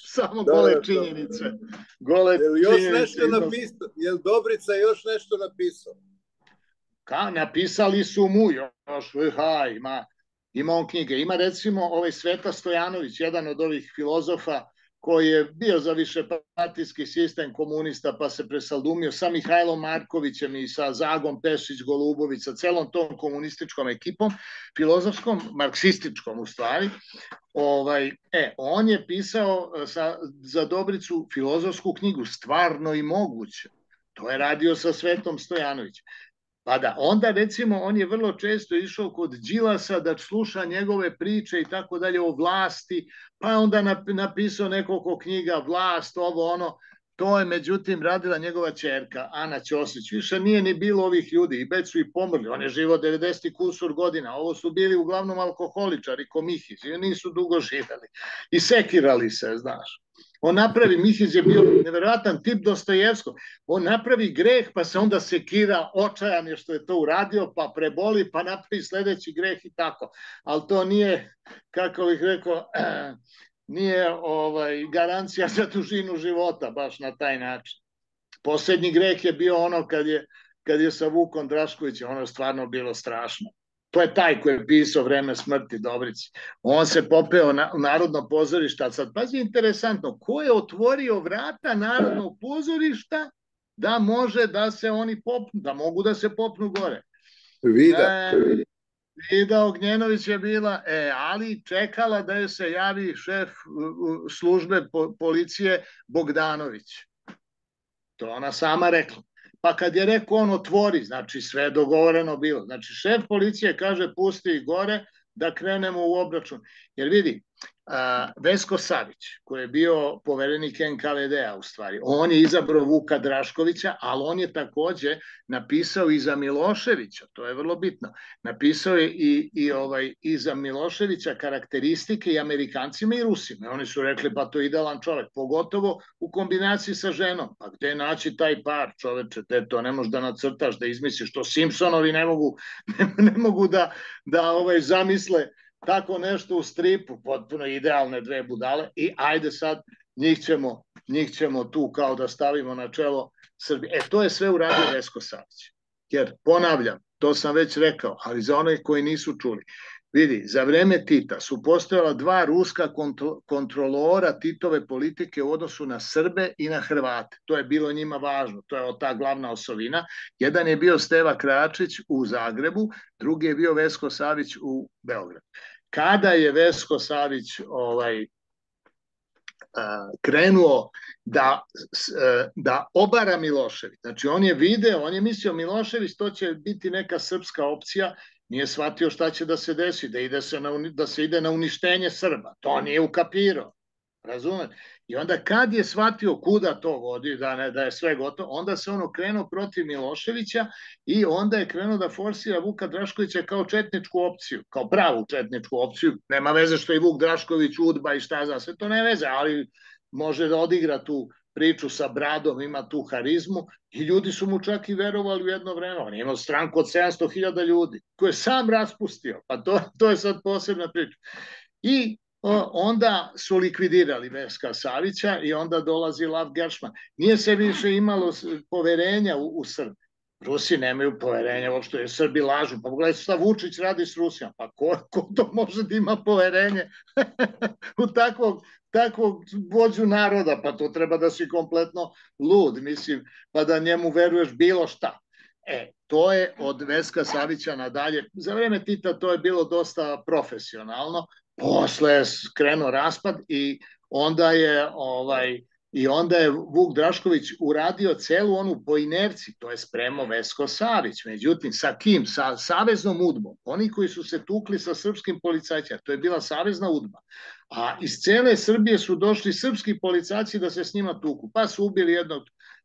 Samo da, gole činjenice. Gole jel još činjenice. Nešto napisao? Jel Dobrica još nešto napisao? Ka, napisali su mu još, ha, ima, ima on knjige. Ima recimo ovaj Sveta Stojanović, jedan od ovih filozofa koji je bio za višepartijski sistem komunista, pa se presaldumio sa Mihajlom Markovićem i sa Zagom Pešić-Golubović, sa celom tom komunističkom ekipom, filozofskom, marksističkom u stvari. Ovaj, e, on je pisao sa, za Dobricu filozofsku knjigu Stvarno i moguće. To je radio sa Svetom Stojanovićem. Pa da, onda recimo on je vrlo često išao kod Đilasa da sluša njegove priče i tako dalje o vlasti, pa onda napisao nekoliko knjiga Vlast, ovo ono, to je međutim radila njegova ćerka Ana Ćosić. Više nije ni bilo ovih ljudi i već su i pomrli, on je živo devedeset kusur godina, ovo su bili uglavnom alkoholičari ko Mihić i nisu dugo živeli i sekirali se, znaš. On napravi, Mihić je bio nevjerojatan tip Dostojevskog, on napravi greh pa se onda sekira, očajan je što je to uradio, pa preboli, pa napravi sledeći greh i tako. Ali to nije, kako bih rekao, nije ovaj, garancija za dužinu života, baš na taj način. Posljednji greh je bio ono kad je, kad je sa Vukom Draškovićem, ono je stvarno bilo strašno. To je taj koji je pisao Vreme smrti Dobrici. On se popeo na, u Narodno pozorište, a sad pazi interesantno, ko je otvorio vrata Narodnog pozorišta da može da se oni popnu, da mogu da se popnu gore. Vida. E, Vida Ognjenović je bila, e, ali čekala da je se javi šef službe po, policije Bogdanović. To ona sama rekla. Pa kad je rekao on otvori, znači sve je dogovoreno bilo. Znači šef policije kaže pusti ih gore da krenemo u obračun. Jer vidi, a, Vesko Savić, koji je bio poverenik en ka ve de-a u stvari, on je izabrao Vuka Draškovića, ali on je takođe napisao i za Miloševića, to je vrlo bitno, napisao je i, i, ovaj, i za Miloševića karakteristike i Amerikancima i Rusima. Oni su rekli, pa to je idealan čovek, pogotovo u kombinaciji sa ženom. Pa gde naći taj par, čoveče, te to ne možeš da nacrtaš, da izmisliš, to Simpsonovi ne mogu, ne, ne mogu da, da ovaj, zamisle tako nešto u stripu, potpuno idealne dve budale i ajde sad njih ćemo, njih ćemo tu kao da stavimo na čelo Srbije. E, to je sve uradio Vesko Savić. Jer, ponavljam, to sam već rekao, ali za one koji nisu čuli, vidi, za vreme Tita su postojala dva ruska kontro, kontrolora Titove politike u odnosu na Srbe i na Hrvate. To je bilo njima važno, to je ta glavna osovina. Jedan je bio Steva Kračić u Zagrebu, drugi je bio Vesko Savić u Beogradu. Kada je Vesko Savić ovaj, krenuo da, da obara Milošević, znači on je video, on je mislio Milošević to će biti neka srpska opcija, nije shvatio šta će da se desi, da, ide se na, da se ide na uništenje Srba, to nije ukapirao, razumete? I onda kad je shvatio kuda to vodi, da, ne, da je sve gotovo, onda se on okrenuo protiv Miloševića i onda je krenuo da forsira Vuka Draškovića kao četničku opciju, kao pravu četničku opciju. Nema veze što je Vuk Drašković udba i šta za sve, to ne veze, ali može da odigra tu priču sa bradom, ima tu harizmu i ljudi su mu čak i verovali u jedno vreme. On je imao stranku od sedamsto hiljada ljudi koje je sam raspustio, pa to, to je sad posebna priča. I onda su likvidirali Veska Savića i onda dolazi Lav Geršman. Nije se više imalo poverenja u, u Srbi. Rusi nemaju poverenja uopšte, jer Srbi lažu. Pa pogledajte šta Vučić radi s Rusijom. Pa ko, ko to može da ima poverenje u takvog, takvog vođu naroda? Pa to treba da si kompletno lud, mislim, pa da njemu veruješ bilo šta. E, to je od Veska Savića nadalje. Za vreme Tita to je bilo dosta profesionalno. Posle je krenuo raspad i onda je ovaj i onda je Vuk Drašković uradio celu onu po inerciji, to je spremao Vesko Savić. Međutim, sa kim? Sa saveznom udbom. Oni koji su se tukli sa srpskim policajcima, to je bila savezna udba. A iz cele Srbije su došli srpski policajci da se s njima tuku. Pa su ubili jednog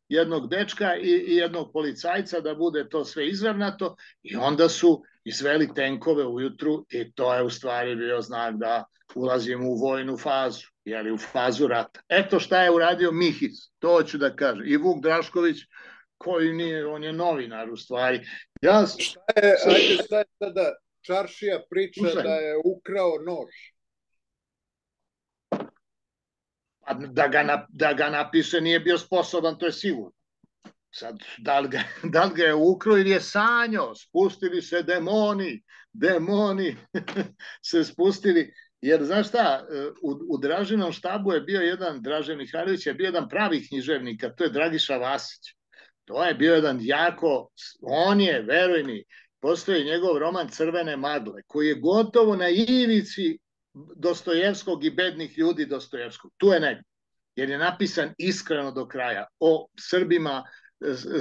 jednog dečka i, i jednog policajca da bude to sve izravnato i onda su izveli tenkove ujutru i to je u stvari bio znak da ulazimo u vojnu fazu, jeli u fazu rata. Eto šta je uradio Mihiz, to ću da kažem. I Vuk Drašković, koji nije, on je novinar u stvari. Ja, šta je, ajde šta je sada Čaršija priča Usaj. da je ukrao nož? Da ga, da ga napiše nije bio sposoban, to je sigurno. Sad, da li ga, da li ga je ukrao ili je sanjao, spustili se demoni, demoni se spustili, jer znaš šta, u, u Dražinom štabu je bio jedan, Dražen Mihajlović je bio jedan pravi književnik, a to je Dragiša Vasić. To je bio jedan jako, on je, veruj mi, postoji njegov roman Crvene magle, koji je gotovo na ivici Dostojevskog i bednih ljudi Dostojevskog. Tu je negdje, jer je napisan iskreno do kraja o Srbima,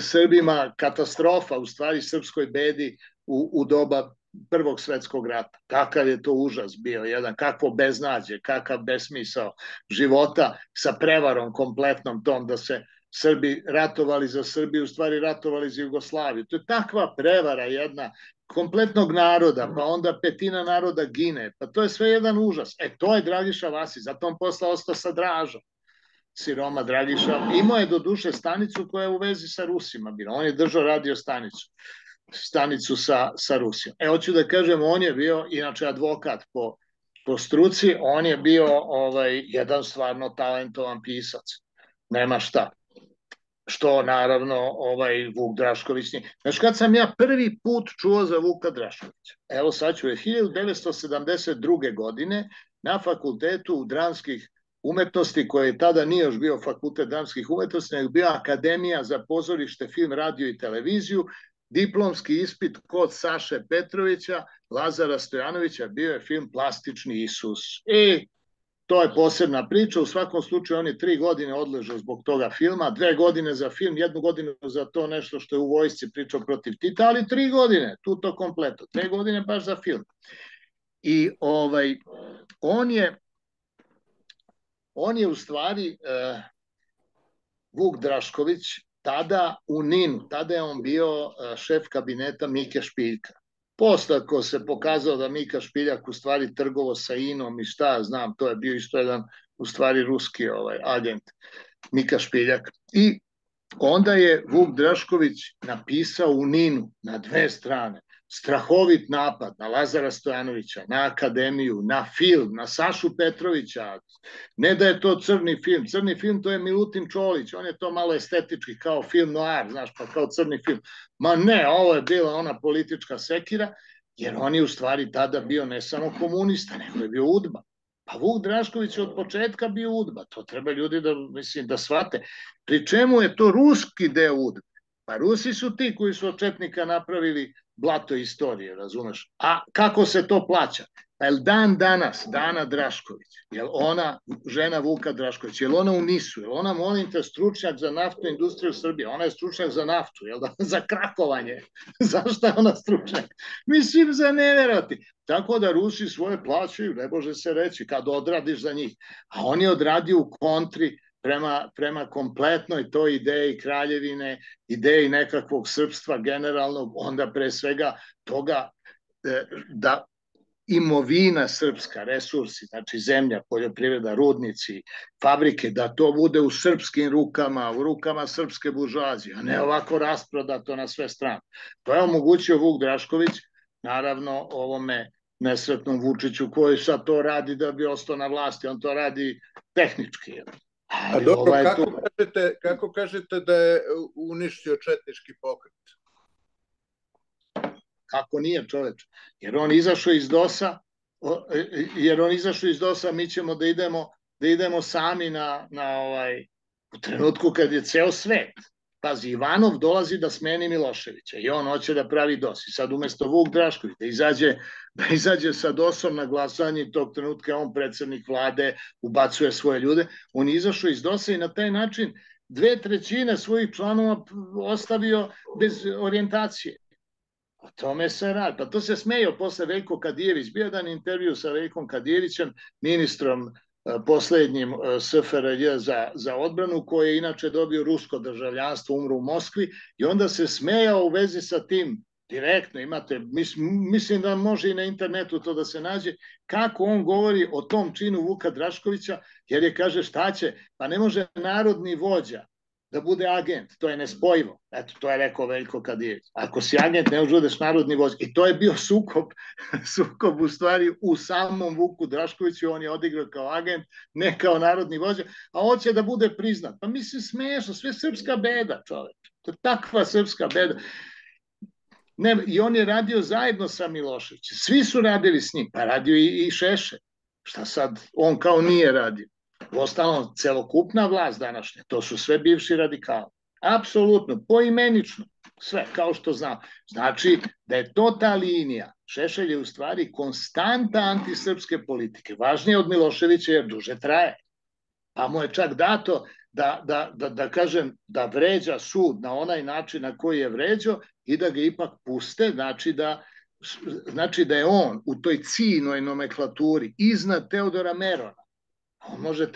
Srbima katastrofa, u stvari srpskoj bedi u, u doba Prvog svetskog rata. Kakav je to užas bio jedan, kakvo beznađe, kakav besmisao života sa prevarom kompletnom tom da se Srbi ratovali za Srbiju, u stvari ratovali za Jugoslaviju. To je takva prevara jedna kompletnog naroda, pa onda petina naroda gine, pa to je sve jedan užas. E, to je Dragiša Vasić, zato on posle ostao sa Dražom, siroma Dragiša. Imao je do duše stanicu koja je u vezi sa Rusima bila, on je držao radio stanicu, stanicu sa, sa Rusijom. E, hoću da kažem, on je bio, inače advokat po, po struci, on je bio ovaj, jedan stvarno talentovan pisac, nema šta. Što naravno ovaj Vuk Drašković nije. Znaš kad sam ja prvi put čuo za Vuka Draškovića? Evo sad ću je hiljadu devetsto sedamdeset druge. godine na fakultetu dramskih umetnosti, koji tada nije još bio fakultet dramskih umetnosti, nego bio Akademija za pozorište, film, radio i televiziju, diplomski ispit kod Saše Petrovića, Lazara Stojanovića, bio je film Plastični Isus. I to je posebna priča, u svakom slučaju on je tri godine odležao zbog toga filma, dve godine za film, jednu godinu za to nešto što je u vojsci pričao protiv Tita, ali tri godine, tu to kompleto, dve godine baš za film. I ovaj, on je on je u stvari uh, Vuk Drašković tada u Ninu, tada je on bio uh, šef kabineta Mike Špiljka. Posle ako se pokazao da Mika Špiljak u stvari trgovo sa Inom i šta znam, to je bio isto jedan u stvari ruski ovaj, agent Mika Špiljak. I onda je Vuk Drašković napisao u Ninu na dve strane strahovit napad na Lazara Stojanovića, na akademiju, na film, na Sašu Petrovića. Ne da je to crni film. Crni film to je Milutin Čolić. On je to malo estetički kao film noir, znaš, pa kao crni film. Ma ne, ovo je bila ona politička sekira, jer on je u stvari tada bio ne samo komunista, nego je bio udba. Pa Vuk Drašković je od početka bio udba. To treba ljudi da, mislim, da shvate. Pri čemu je to ruski deo udbe? Pa Rusi su ti koji su od četnika napravili blato istorije, razumeš? A kako se to plaća? Pa je dan danas, Dana Drašković, je ona žena Vuka Drašković, je ona u Nisu, je ona, molim te, stručnjak za naftnu industriju Srbije, ona je stručnjak za naftu, je da? Za krakovanje. Zašto je ona stručnjak? Mislim, za neverati. Tako da Rusi svoje plaćaju, ne može se reći, kad odradiš za njih. A on je odradio u kontri prema, prema kompletnoj toj ideji kraljevine, ideji nekakvog srpstva generalnog, onda pre svega toga da imovina srpska, resursi, znači zemlja, poljoprivreda, rudnici, fabrike, da to bude u srpskim rukama, u rukama srpske buržoazije, a ne ovako rasprodato na sve strane. To je omogućio Vuk Drašković, naravno ovome nesretnom Vučiću koji sad to radi da bi ostao na vlasti, on to radi tehnički. A dobro, kako kažete, kako kažete da je uništio četnički pokret? Kako nije, čoveč? Jer on izašao iz DOS-a, jer on izašao iz DOS-a, mi ćemo da idemo, da idemo sami na, na ovaj, u trenutku kad je ceo svet. Pazi, Ivanov dolazi da smeni Miloševića i on hoće da pravi DOS. I sad umesto Vuk Drašković da izađe, da izađe sa DOS-om na glasanje, tog trenutka on predsednik vlade, ubacuje svoje ljude, on je izašao iz DOS-a i na taj način dve trećine svojih članova ostavio bez orijentacije. O tome se radi. Pa to se smejao posle Veljko Kadijević. Bio jedan intervju sa Veljkom Kadijevićem, ministrom poslednjim S F R J za, za odbranu, koji je inače dobio rusko državljanstvo, umro u Moskvi, i onda se smejao u vezi sa tim direktno, imate, mislim, mislim da može i na internetu to da se nađe, kako on govori o tom činu Vuka Draškovića, jer je, kaže, šta će, pa ne može narodni vođa da bude agent, to je nespojivo. Eto, to je rekao Veljko Kadijević. Ako si agent, ne užudeš narodni vođa. I to je bio sukob, sukob u stvari u samom Vuku Draškoviću, on je odigrao kao agent, ne kao narodni vođa, a hoće da bude priznat. Pa mislim, smešno, sve srpska beda, čoveč. To je takva srpska beda. Ne, i on je radio zajedno sa Miloševićem. Svi su radili s njim, pa radio i, i Šešelj. Šta sad, on kao nije radio. Ostalom, celokupna vlast današnja, to su sve bivši radikali. Apsolutno, poimenično, sve, kao što znam. Znači da je to ta linija. Šešelj je u stvari konstanta antisrpske politike. Važnije od Miloševića jer duže traje. Pa mu je čak dato da, da, da, da kažem, da vređa sud na onaj način na koji je vređao i da ga ipak puste, znači da, znači da je on u toj ciljnoj nomenklaturi iznad Teodora Merona. On može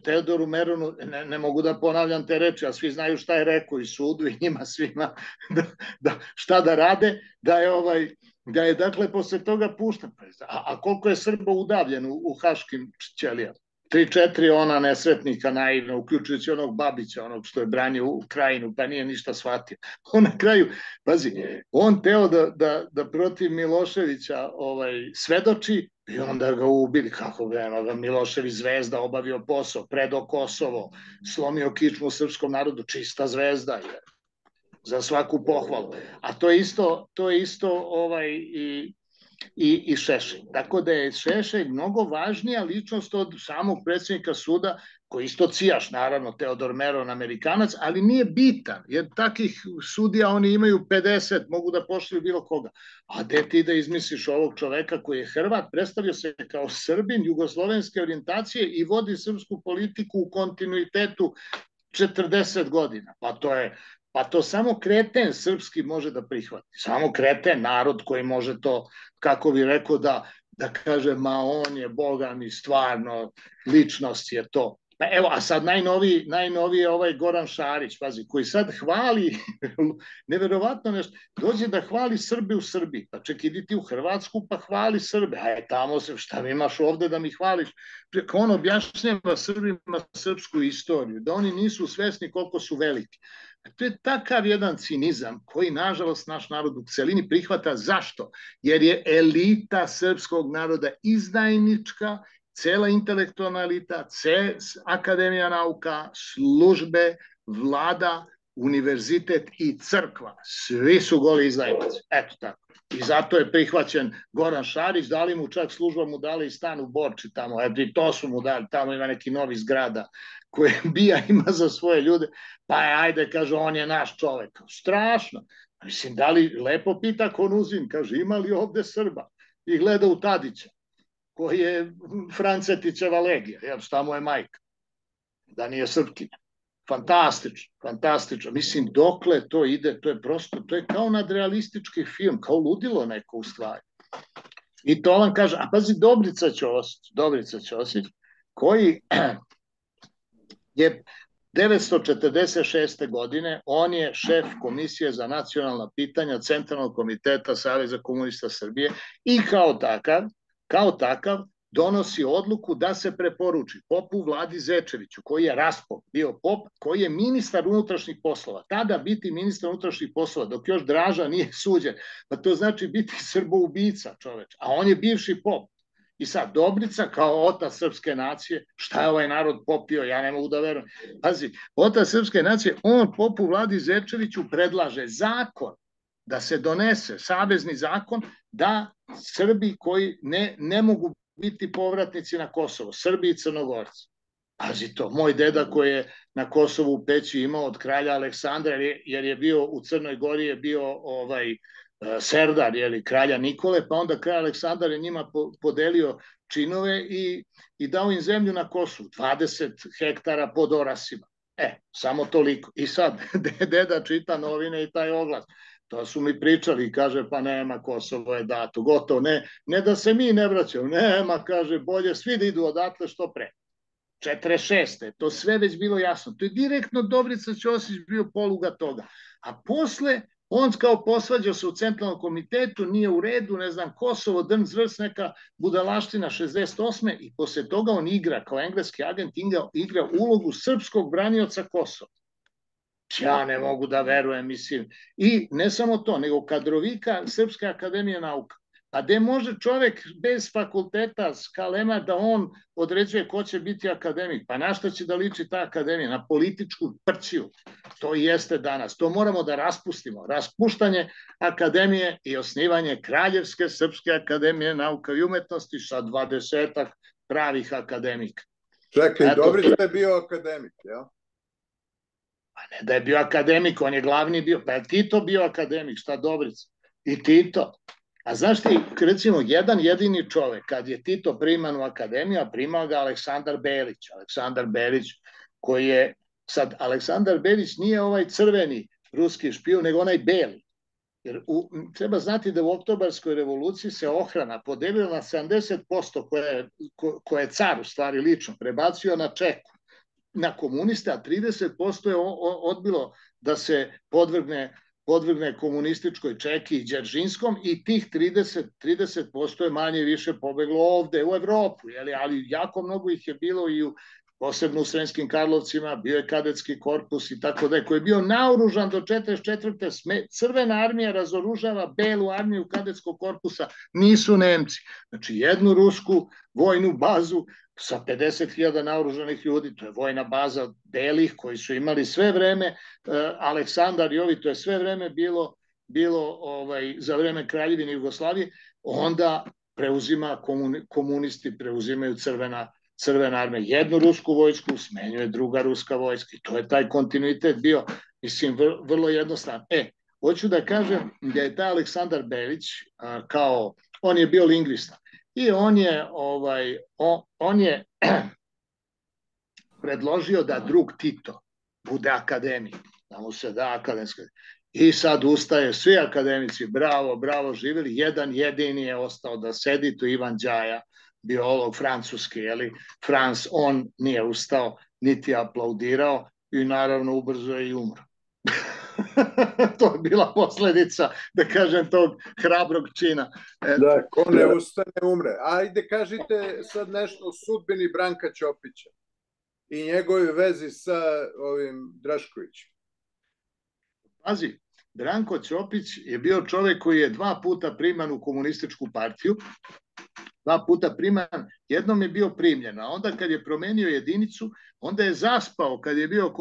Teodoru Meronu, ne, ne mogu da ponavljam te reči, a svi znaju šta je rekao i sudu i njima svima da, da, šta da rade, da je, ovaj, da je dakle posle toga pušten. A, a koliko je Srba udavljen u, u haškim ćelijama? Tri, četiri ona nesretnika naivna, uključujući onog Babića, onog što je branio u Krajinu, pa nije ništa shvatio. On na kraju, pazi, on teo da, da, da protiv Miloševića ovaj, svedoči, i onda ga ubili, kako ga Milošević zvezda, obavio posao, predo Kosovo, slomio kičmu srpskom narodu, čista zvezda je, za svaku pohvalu. A to je isto, to je isto ovaj, i, i, i Šešelj. Tako da je Šešelj mnogo važnija ličnost od samog predsjednika suda, koji isto cijaš, naravno, Teodor Meron, Amerikanac, ali nije bitan, jer takih sudija oni imaju pedeset, mogu da pošlju bilo koga. A gde ti da izmisliš ovog čoveka koji je Hrvat, predstavio se kao Srbin, jugoslovenske orijentacije i vodi srpsku politiku u kontinuitetu četrdeset godina. Pa to je, pa to samo kreten srpski može da prihvati. Samo kreten narod koji može to, kako bi rekao, da da kaže, ma on je, Boga mi, stvarno, ličnost je to. Pa evo, a sad najnoviji, najnoviji je ovaj Goran Šarić, pazi, koji sad hvali, neverovatno nešto, dođe da hvali Srbe u Srbiji, pa ček, idi ti u Hrvatsku pa hvali Srbe, a je tamo se, šta mi imaš ovde da mi hvališ? On objašnjava Srbima srpsku istoriju, da oni nisu svesni koliko su veliki. To je takav jedan cinizam koji, nažalost, naš narod u celini prihvata. Zašto? Jer je elita srpskog naroda izdajnička, cela intelektualna elita, akademija nauka, službe, vlada, univerzitet i crkva. Svi su goli izdajnici. Eto tako. I zato je prihvaćen Goran Šarić, dali mu čak služba, mu dali i stan u Borči tamo, eto i to su mu dali, tamo ima neki novi zgrada koje bija ima za svoje ljude, pa je, ajde, kaže, on je naš čovek. Strašno. Mislim, da li, lepo pita Konuzin, kaže, ima li ovde Srba? I gleda u Tadića, koji je Francetićeva legija, jer šta mu je majka, da nije Srpkinja. Fantastično, fantastično. Mislim, dokle to ide, to je prosto, to je kao nadrealistički film, kao ludilo neko u stvari. I to vam kaže, a pazi, Dobrica Ćosić, Dobrica Ćosić, koji je devetsto četrdeset šeste. godine, on je šef Komisije za nacionalna pitanja Centralnog komiteta Saveza komunista Srbije i kao takav, kao takav, donosi odluku da se preporuči popu Vladi Zečeviću, koji je raspop, bio pop, koji je ministar unutrašnjih poslova. Tada biti ministar unutrašnjih poslova, dok još Draža nije suđen, pa to znači biti srboubica, čoveč. A on je bivši pop. I sad, Dobrica kao otac srpske nacije, šta je ovaj narod popio, ja ne mogu da verujem. Pazi, otac srpske nacije, on popu Vladi Zečeviću predlaže zakon, da se donese savezni zakon, da Srbi koji ne, ne mogu biti povratnici na Kosovo, Srbi i Crnogorci. Pazi to, moj deda koji je na Kosovu u Peći imao od kralja Aleksandra, jer je bio u Crnoj Gori, je bio ovaj serdar, jeli, kralja Nikole, pa onda kralj Aleksandar je njima podelio činove i, i dao im zemlju na Kosovu, dvadeset hektara pod orasima. E, samo toliko. I sad, deda čita novine i taj oglas. To su mi pričali i kaže, pa nema, Kosovo je dato, gotovo, ne, ne da se mi ne vraćamo, nema, kaže, bolje svi da idu odatle što pre. četrdeset šeste. To sve već bilo jasno. To je direktno Dobrica Ćosić bio poluga toga. A posle, on kao posvađao se u Centralnom komitetu, nije u redu, ne znam, Kosovo, drn zvrst, neka budalaština šezdeset osme. i posle toga on igra, kao engleski agent, igra ulogu srpskog branioca Kosova. Ja ne mogu da verujem, mislim. I ne samo to, nego kadrovika Srpske akademije nauka. A gde može čovek bez fakulteta skalema da on određuje ko će biti akademik? Pa na šta će da liči ta akademija? Na političku prćiju. To i jeste danas. To moramo da raspustimo. Raspuštanje akademije i osnivanje Kraljevske Srpske akademije nauka i umetnosti sa dvadesetak pravih akademika. Čekaj, Dobrica je bio akademik, jel? Pa ne da je bio akademik, on je glavni bio. Pa je Tito bio akademik, šta Dobrica? I Tito. A znaš ti, recimo, jedan jedini čovek, kad je Tito priman u akademiju, a primao ga Aleksandar Belić. Aleksandar Belić, koji je, sad, Aleksandar Belić nije ovaj crveni ruski špijun, nego onaj beli. Jer u, treba znati da u Oktobarskoj revoluciji se ohrana podelila na sedamdeset posto koje, ko, koje je car u stvari lično prebacio na Čeku, na komuniste, a trideset posto je odbilo da se podvrgne podvrgne komunističkoj Čeki i Đeržinskom i tih trideset posto je manje više pobeglo ovde u Evropu, jeli? Ali jako mnogo ih je bilo i u, posebno u Sremskim Karlovcima, bio je kadetski korpus i tako da je, koji je bio naoružan do četrdeset četvrte. Crvena armija razoružava belu armiju kadetskog korpusa, nisu Nemci. Znači jednu rusku vojnu bazu sa pedeset hiljada naoružanih ljudi, to je vojna baza belih koji su imali sve vreme, uh, Aleksandar i ovi, to je sve vreme bilo, bilo ovaj, za vreme Kraljevine Jugoslavije, onda preuzima komuni, komunisti, preuzimaju crvena, crvena armija. Jednu rusku vojsku smenjuje druga ruska vojska i to je taj kontinuitet bio, mislim, vr, vrlo jednostavno. E, hoću da kažem da je taj Aleksandar Belić, uh, kao, on je bio lingvista, i on je, ovaj, on, on je predložio da drug Tito bude akademik, da mu se da akademska. I sad ustaje, svi akademici, bravo, bravo, živjeli, jedan jedini je ostao da sedi, tu Ivan Đaja, biolog francuski, jeli, Frans, on nije ustao, niti aplaudirao i naravno ubrzo je i umro. To je bila posledica, da kažem, tog hrabrog čina. Da, ko ne ustane, umre. Ajde, kažite sad nešto o sudbini Branka Ćopića i njegove vezi sa ovim Draškovićem. Pazi, Branko Ćopić je bio čovjek koji je dva puta priman u komunističku partiju, dva puta priman, jednom je bio primljen, a onda kad je promenio jedinicu, onda je zaspao kad je bio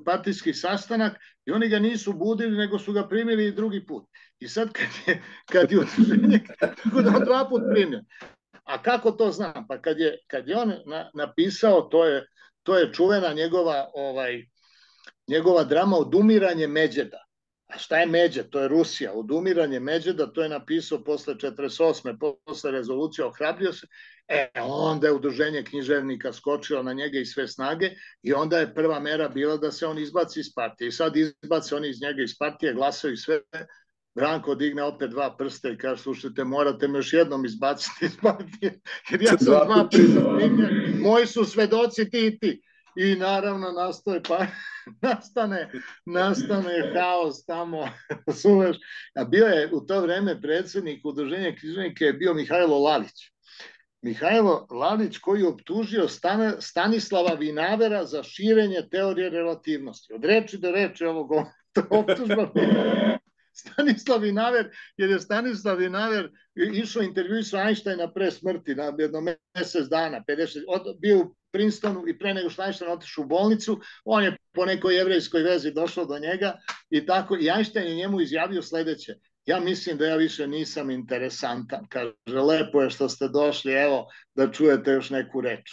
partijski sastanak i oni ga nisu budili, nego su ga primili i drugi put. I sad kad je, kad je udruženje, tako da on dva put primljen. A kako to znam? Pa kad je, kad je on na, napisao, to je, to je čuvena njegova, ovaj, njegova drama Odumiranje Međeda. A šta je Međed? To je Rusija. Odumiranje Međeda, to je napisao posle četrdeset osme, posle rezolucije, ohrabrio se. E, onda je udruženje književnika skočilo na njega i sve snage i onda je prva mera bila da se on izbaci iz partije. I sad izbaci oni iz njega iz partije, glasaju sve. Branko digne opet dva prsta i kaže, slušajte, morate me još jednom izbaciti iz partije, jer ja sam dva prsta, moji su svedoci ti i ti. I naravno nastoje, pa nastane, nastane haos tamo, sumeš. A bio je u to vreme predsjednik udruženja književnika je bio Mihajlo Lalić. Mihajlo Lalić koji je optužio Stan, Stanislava Vinavera za širenje teorije relativnosti. Od reči do reči ovog optužba. Stanislav Vinaver, jer je Stanislav Vinaver išao intervju sa Einsteina pre smrti, na jedno mesec dana, pedeset, od, bio u Princetonu i pre nego što Einstein otišao u bolnicu, on je po nekoj jevrejskoj vezi došao do njega i tako, i Einstein je njemu izjavio sledeće, ja mislim da ja više nisam interesantan, kaže, lepo je što ste došli, evo, da čujete još neku reč.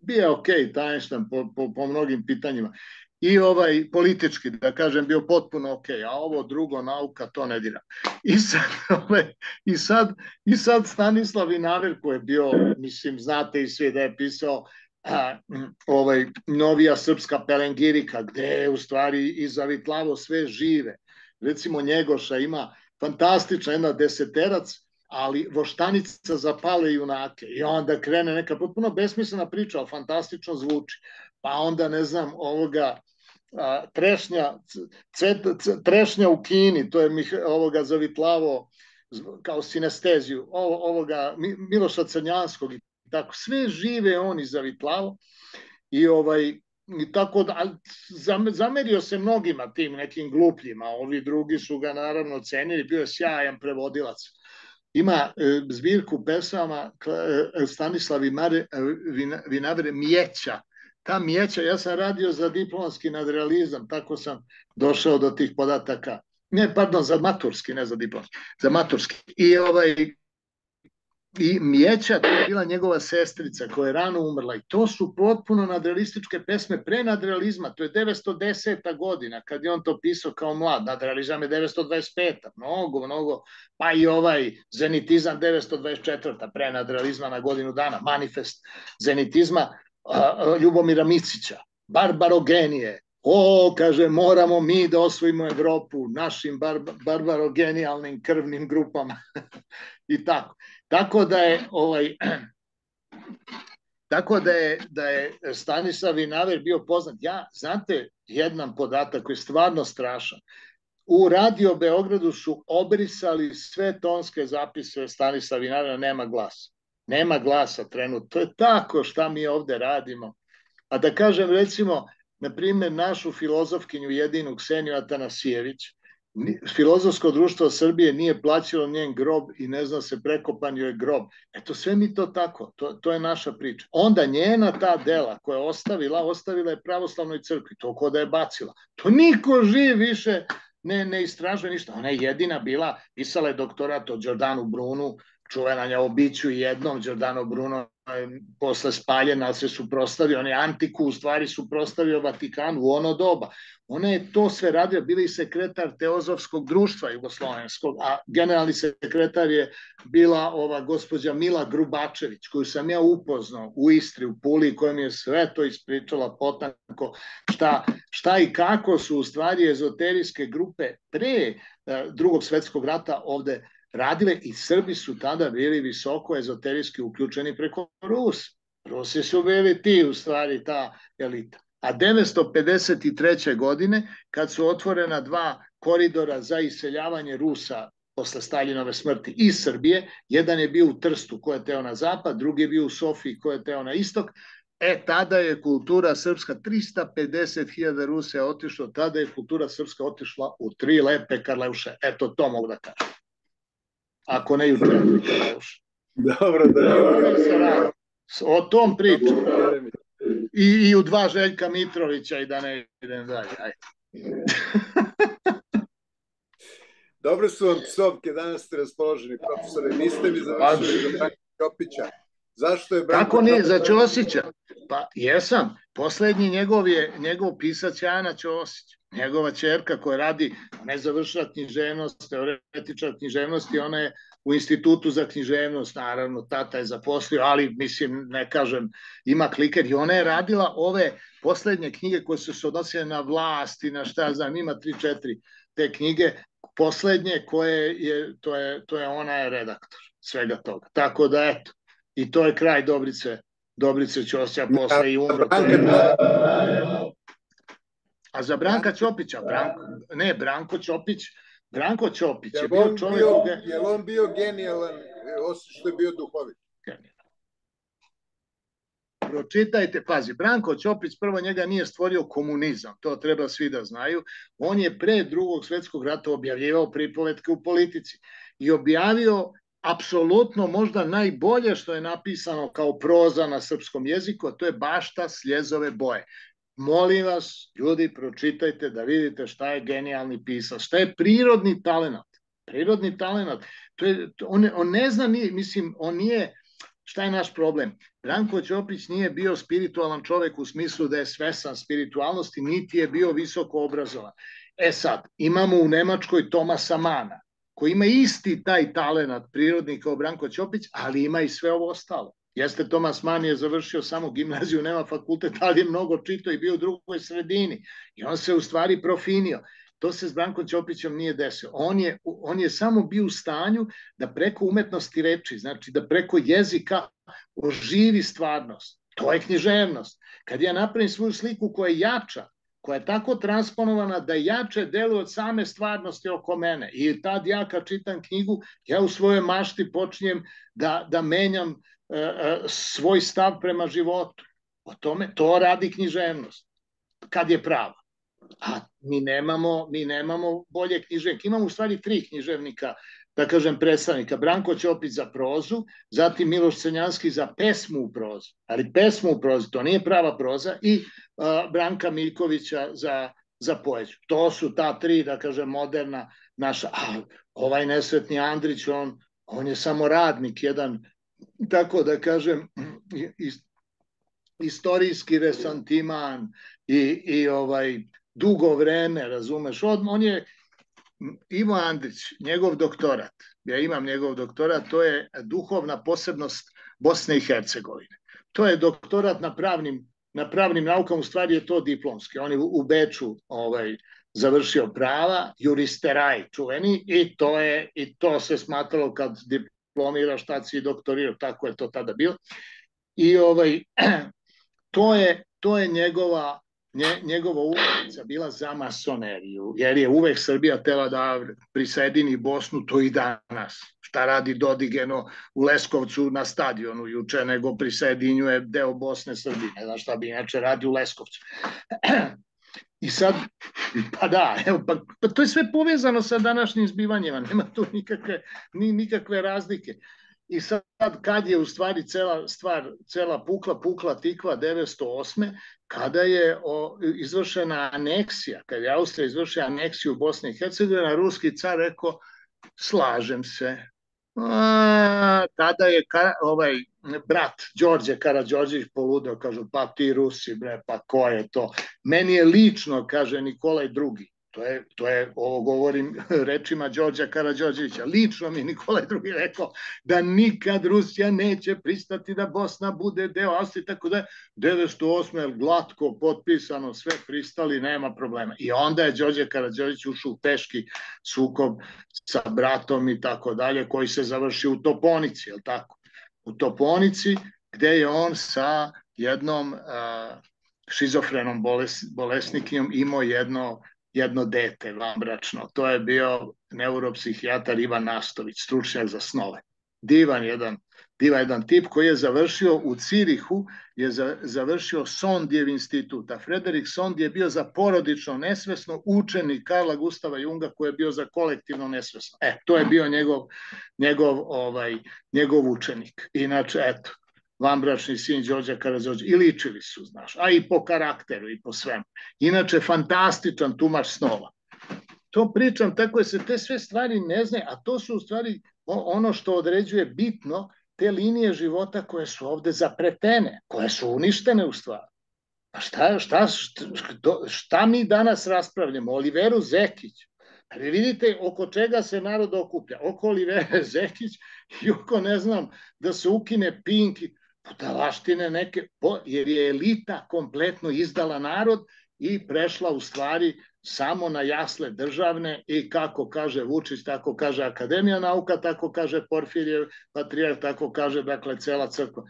Bio je okej, okay, Einstein po, po, po mnogim pitanjima. I ovaj politički, da kažem, bio potpuno ok, a ovo drugo, nauka, to ne dira. I sad, ovaj, i sad, i sad Stanislav Vinaver koji je bio, mislim, znate i svi da je pisao a, ovaj, Novija srpska pelengirika, gde je u stvari i zavitlavo sve žive. Recimo Njegoša ima fantastična jedna deseterac, ali voštanica za pale junake. I onda krene neka potpuno besmislena priča, ali fantastično zvuči. Pa onda, ne znam, ovoga a, trešnja, cvet, trešnja u Kini, to je Mih, ovoga zavitlavo kao sinesteziju, ovo, ovoga Miloša Crnjanskog i tako, sve žive oni zavitlavo i ovaj, i tako da, zamerio se mnogima tim nekim glupljima, ovi drugi su ga naravno cenili, bio je sjajan prevodilac. Ima e, zbirku pesama e, Stanislav Vinaver Mjeća. Ta Mjeća, ja sam radio za diplomski nadrealizam, tako sam došao do tih podataka. Ne, pardon, za maturski, ne za diplomski, za maturski. I ovaj i Mjeća, to je bila njegova sestrica koja je rano umrla i to su potpuno nadrealističke pesme pre nadrealizma, to je devetsto deseta godina kad je on to pisao kao mlad, nadrealizam je devetsto dvadeset peta, mnogo, mnogo, pa i ovaj zenitizam devetsto dvadeset četvrta pre nadrealizma na godinu dana, manifest zenitizma a, Ljubomira Micića, barbarogenije, o, kaže, moramo mi da osvojimo Evropu našim bar, barbarogenijalnim krvnim grupama i tako. Tako da je ovaj tako da je da je Stanislav Vinaver bio poznat. Ja, znate, jedan podatak koji je stvarno strašan. U Radio Beogradu su obrisali sve tonske zapise Stanislava Vinavera, nema glasa. Nema glasa trenutno. To je tako šta mi ovde radimo. A da kažem, recimo, na primjer, našu filozofkinju jedinu Kseniju Atanasijević, Filozofsko društvo Srbije nije plaćalo njen grob i ne zna se, prekopan joj grob. Eto, sve mi to tako, to, to je naša priča. Onda njena ta dela koja je ostavila, ostavila je pravoslavnoj crkvi, to ko da je bacila. To niko živ više ne, ne istražuje ništa. Ona je jedina bila, pisala je doktorat o Đordanu Brunu, čuvena je o biću jednom, Đordano Bruno posle spaljena, ali se suprotstavio, on je Antiku u stvari suprotstavio Vatikanu u ono doba. Ona je to sve radio, bili i sekretar Teozofskog društva jugoslovenskog, a generalni sekretar je bila ova gospođa Mila Grubačević, koju sam ja upoznao u Istri, u Puli, koja mi je sve to ispričala potanko, šta, šta i kako su u stvari ezoterijske grupe pre Drugog svetskog rata ovde radile i Srbi su tada bili visoko ezoterijski uključeni preko Rusa. Rusi su bili ti u stvari ta elita. A devetsto pedeset treće. godine, kad su otvorena dva koridora za iseljavanje Rusa posle Staljinove smrti iz Srbije, jedan je bio u Trstu ko je teo na zapad, drugi je bio u Sofiji ko je teo na istok, e tada je kultura srpska, tristo pedeset hiljada Rusa je otišlo, tada je kultura srpska otišla u tri lepe Karleuše. Eto, to mogu da kažem. Ako ne u četiri Karleuše. Dobro, da ne o tom pričam. I, I u dva Željka Mitrovića i da ne idem dalje. Dobre su vam psovke, danas ste raspoloženi, profesore. Niste mi završili za Branka Ćopića. Zašto je Branko Kako nije, za Ćosića? Pa jesam. Poslednji njegov je, njegov pisac je Ana Ćosić. Njegova ćerka koja radi, ona je završila književnost, teoretičar književnosti, ona je u institutu za književnost, naravno, tata je zaposlio, ali mislim, ne kažem, ima kliker i ona je radila ove poslednje knjige koje su se odnosile na vlast i na šta znam, ima tri, četiri te knjige, poslednje koje je, to je, to je ona je redaktor svega toga. Tako da, eto, i to je kraj Dobrice, Dobrice Ćosića, posle i umro. A za Branka Ćopića, Branko, ne, Branko Ćopić, Branko Ćopić je bio čovjek... Je li on bio genijalan, osim što je bio duhovit? Pročitajte, pazi, Branko Ćopić prvo njega nije stvorio komunizam, to treba svi da znaju. On je pre Drugog svetskog rata objavljivao pripovetke u politici i objavio apsolutno možda najbolje što je napisano kao proza na srpskom jeziku, a to je Bašta sljezove boje. Molim vas, ljudi, pročitajte da vidite šta je genijalni pisac, šta je prirodni talenat. Prirodni talenat. To je, on, on ne zna, nije, mislim, on nije, šta je naš problem? Branko Ćopić nije bio spiritualan čovek u smislu da je svesan spiritualnosti, niti je bio visoko obrazovan. E sad, imamo u Nemačkoj Tomasa Mana, koji ima isti taj talenat prirodni kao Branko Ćopić, ali ima i sve ovo ostalo. Jeste, Tomas Mann je završio samo gimnaziju, nema fakultet, ali je mnogo čitao i bio u drugoj sredini. I on se u stvari profinio. To se s Brankom Ćopićem nije desilo. On je, on je samo bio u stanju da preko umetnosti reči, znači da preko jezika oživi stvarnost. To je književnost. Kad ja napravim svoju sliku koja je jača, koja je tako transponovana da jače deluje od same stvarnosti oko mene. I tad ja kad čitam knjigu, ja u svojoj mašti počinjem da, da menjam e, svoj stav prema životu. O tome, to radi književnost. Kad je prava. A mi nemamo, mi nemamo bolje književnika. Imamo u stvari tri književnika, da kažem predstavnika. Branko Ćopić za prozu, zatim Miloš Crnjanski za pesmu u prozu. Ali pesmu u prozu, to nije prava proza, i uh, Branka Miljkovića za, za poeziju. To su ta tri, da kažem, moderna naša. A ovaj nesretni Andrić, on, on je samo radnik, jedan, tako da kažem, ist, istorijski resantiman i, i ovaj dugo vreme, razumeš, on, on je Ivo Andrić, njegov doktorat, ja imam njegov doktorat, to je duhovna posebnost Bosne i Hercegovine. To je doktorat na pravnim, na pravnim naukama, u stvari je to diplomski. On je u Beču ovaj, završio prava, juristeraj čuveni, i to, je, i to se smatralo kad diplomiraš, tad si doktorirao, tako je to tada bilo. I ovaj, to je, to je njegova Nje, njegova ulica bila za masoneriju, jer je uvek Srbija tela da prisajedini Bosnu, to i danas. Šta radi Dodigeno u Leskovcu na stadionu juče, nego prisajedinjuje deo Bosne Srbije. Ne znam šta bi inače radi u Leskovcu. I sad, pa da, evo, pa, pa to je sve povezano sa današnjim zbivanjima, nema tu nikakve, ni, nikakve razlike. I sad kad je u stvari cela stvar, cela pukla, pukla tikva devetsto osme kada je o, izvršena aneksija, kada je Austrija izvršila aneksiju Bosne i Hercegovine, ruski car rekao, slažem se. A, tada je ka, ovaj, brat Đorđe Karađorđević poludeo, kažu, pa ti Rusi, bre, pa ko je to? Meni je lično, kaže Nikolaj drugi, to je, to je, ovo govorim rečima Đorđa Karađorđevića, lično mi Nikolaj drugi rekao da nikad Rusija neće pristati da Bosna bude deo Austrije, tako da je devetsto osme glatko potpisano, sve pristali, nema problema. I onda je Đorđe Karađorđević ušao u teški sukob sa bratom i tako dalje, koji se završio u Toponici, je li tako? U Toponici, gde je on sa jednom uh, šizofrenom boles, bolesnikom imao jedno, jedno dete vanbračno. To je bio neuropsihijatar Ivan Nastović, stručnjak za snove. Divan jedan, divan jedan tip koji je završio u Cirihu, je za, završio Sondijev institut, a Frederik Sondi je bio za porodično nesvesno učenik Karla Gustava Junga koji je bio za kolektivno nesvesno. E, to je bio njegov, njegov, ovaj, njegov učenik. Inače, eto, vanbračni sin Đorđa Karađorđevića, i ličili su, znaš, a i po karakteru i po svemu. Inače, fantastičan tumač snova. To pričam tako je se te sve stvari ne znaju, a to su u stvari ono što određuje bitno te linije života koje su ovde zapretene, koje su uništene u stvari. A šta, šta, šta, šta mi danas raspravljamo? Oliveru Zekić. Ali vidite oko čega se narod okuplja. Oko Olivere Zekić i oko, ne znam, da se ukine Pink, budalaštine neke, jer je elita kompletno izdala narod i prešla u stvari samo na jasle državne i kako kaže Vučić, tako kaže Akademija nauka, tako kaže Porfirijev patrijarh, tako kaže, dakle, cela crkva.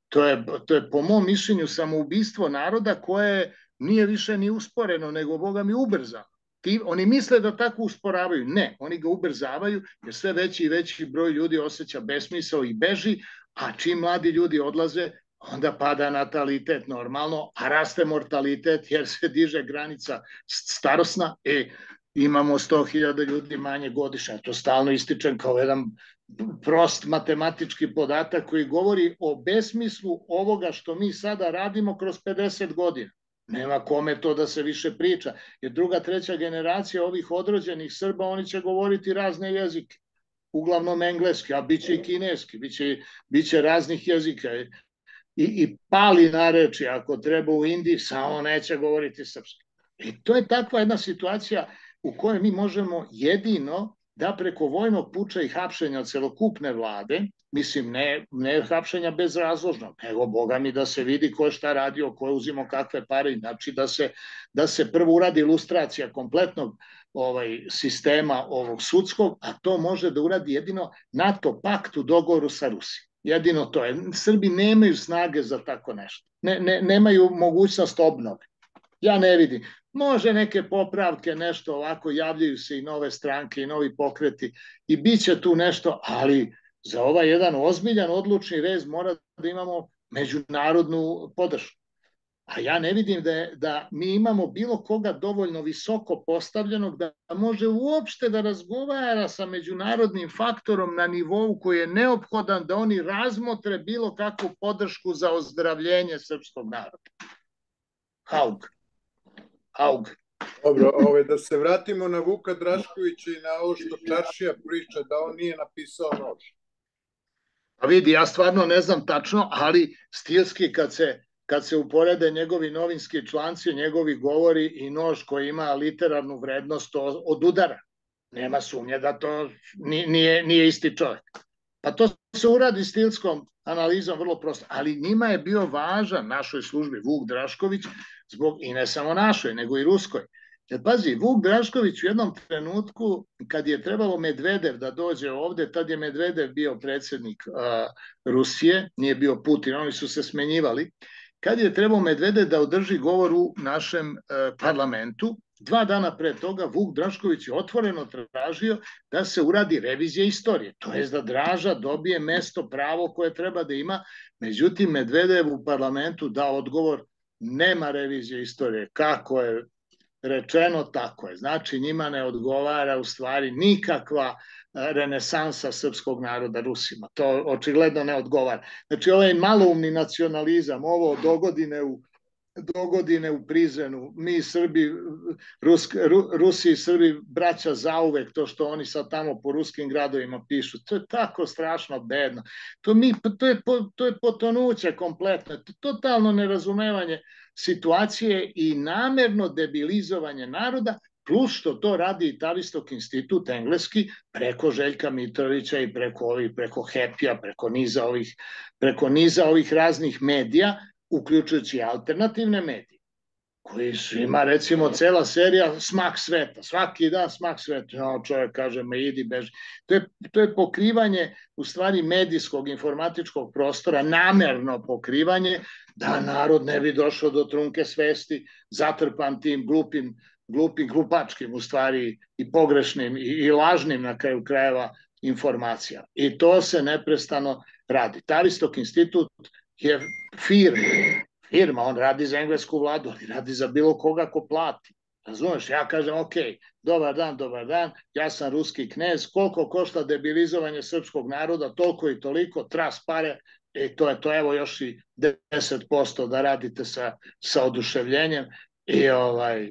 To je, to je po mom mišljenju samoubistvo naroda koje nije više ni usporeno, nego Boga mi ubrzano. Ti, oni misle da tako usporavaju. Ne, oni ga ubrzavaju jer sve veći i veći broj ljudi osjeća besmisao i beži, a čim mladi ljudi odlaze, onda pada natalitet normalno, a raste mortalitet jer se diže granica starosna i imamo sto hiljada ljudi manje godišnje. To stalno ističem kao jedan prost matematički podatak koji govori o besmislu ovoga što mi sada radimo kroz pedeset godina. Nema kome to da se više priča, jer druga, treća generacija ovih odrođenih Srba, oni će govoriti razne jezike, uglavnom engleski, a bit će i kineski, bit će, bit će raznih jezika. I, i pali nareči ako treba u Indiji, samo neće govoriti srpski. I to je takva jedna situacija u kojoj mi možemo jedino da preko vojnog puča i hapšenja celokupne vlade, mislim ne, ne hapšenja bezrazložno, nego Boga mi da se vidi ko je šta radio, ko je uzimo kakve pare, znači da se, da se prvo uradi ilustracija kompletnog ovaj, sistema ovog sudskog, a to može da uradi jedino NATO pakt u dogovoru sa Rusijom. Jedino to je. Srbi nemaju snage za tako nešto. Ne, ne, nemaju mogućnost obnove. Ja ne vidim. Može neke popravke, nešto ovako, javljaju se i nove stranke i novi pokreti i bit će tu nešto, ali za ovaj jedan ozbiljan odlučni rez mora da imamo međunarodnu podršku. A ja ne vidim da, je, da mi imamo bilo koga dovoljno visoko postavljenog da može uopšte da razgovara sa međunarodnim faktorom na nivou koji je neophodan da oni razmotre bilo kakvu podršku za ozdravljenje srpskog naroda. Haug. Haug. Dobro, ove, da se vratimo na Vuka Draškovića i na ovo što Čaršija priča, da on nije napisao nož. Pa vidi, ja stvarno ne znam tačno, ali stilski kad se kad se uporede njegovi novinski članci, njegovi govori i nož koji ima literarnu vrednost od udara. Nema sumnje da to nije, nije isti čovjek. Pa to se uradi stilskom analizom vrlo prosto. Ali njima je bio važan našoj službi Vuk Drašković, zbog, i ne samo našoj, nego i ruskoj. Jer pazi, Vuk Drašković u jednom trenutku, kad je trebalo Medvedev da dođe ovde, tad je Medvedev bio predsjednik a, Rusije, nije bio Putin, oni su se smenjivali. Kad je trebao Medvedev da održi govor u našem e, parlamentu, dva dana pre toga Vuk Drašković je otvoreno tražio da se uradi revizija istorije. To je da Draža dobije mesto, pravo koje treba da ima. Međutim, Medvedev u parlamentu dao odgovor, nema revizije istorije. Kako je rečeno, tako je. Znači, njima ne odgovara u stvari nikakva renesansa srpskog naroda Rusima. To očigledno ne odgovara. Znači, ovaj maloumni nacionalizam, ovo dogodine u dogodine u prizenu, mi Srbi, Rusk, Ru, Rusi i Srbi braća zauvek, to što oni sad tamo po ruskim gradovima pišu, to je tako strašno bedno. To, mi, to, je, to je potonuće kompletno, to je totalno nerazumevanje situacije i namerno debilizovanje naroda, plus što to radi i Tavistock institut engleski preko Željka Mitrovića i preko ovih, preko Happy-a, preko niza ovih, preko niza ovih raznih medija, uključujući alternativne medije, koji su ima recimo cela serija Smak sveta, svaki dan Smak sveta, no, čovjek kaže me idi beži. To je, to je pokrivanje u stvari medijskog informatičkog prostora, namerno pokrivanje da narod ne bi došao do trunke svesti, zatrpan tim glupim, glupim, glupačkim u stvari i pogrešnim i, i lažnim na kraju krajeva informacija. I to se neprestano radi. Tavistock institut je firma, firma, on radi za englesku vladu, ali radi za bilo koga ko plati. Razumeš, ja kažem, ok, dobar dan, dobar dan, ja sam ruski knez, koliko košta debilizovanje srpskog naroda, toliko i toliko, tras pare, i to je to, evo još i deset posto da radite sa, sa oduševljenjem, i, ovaj,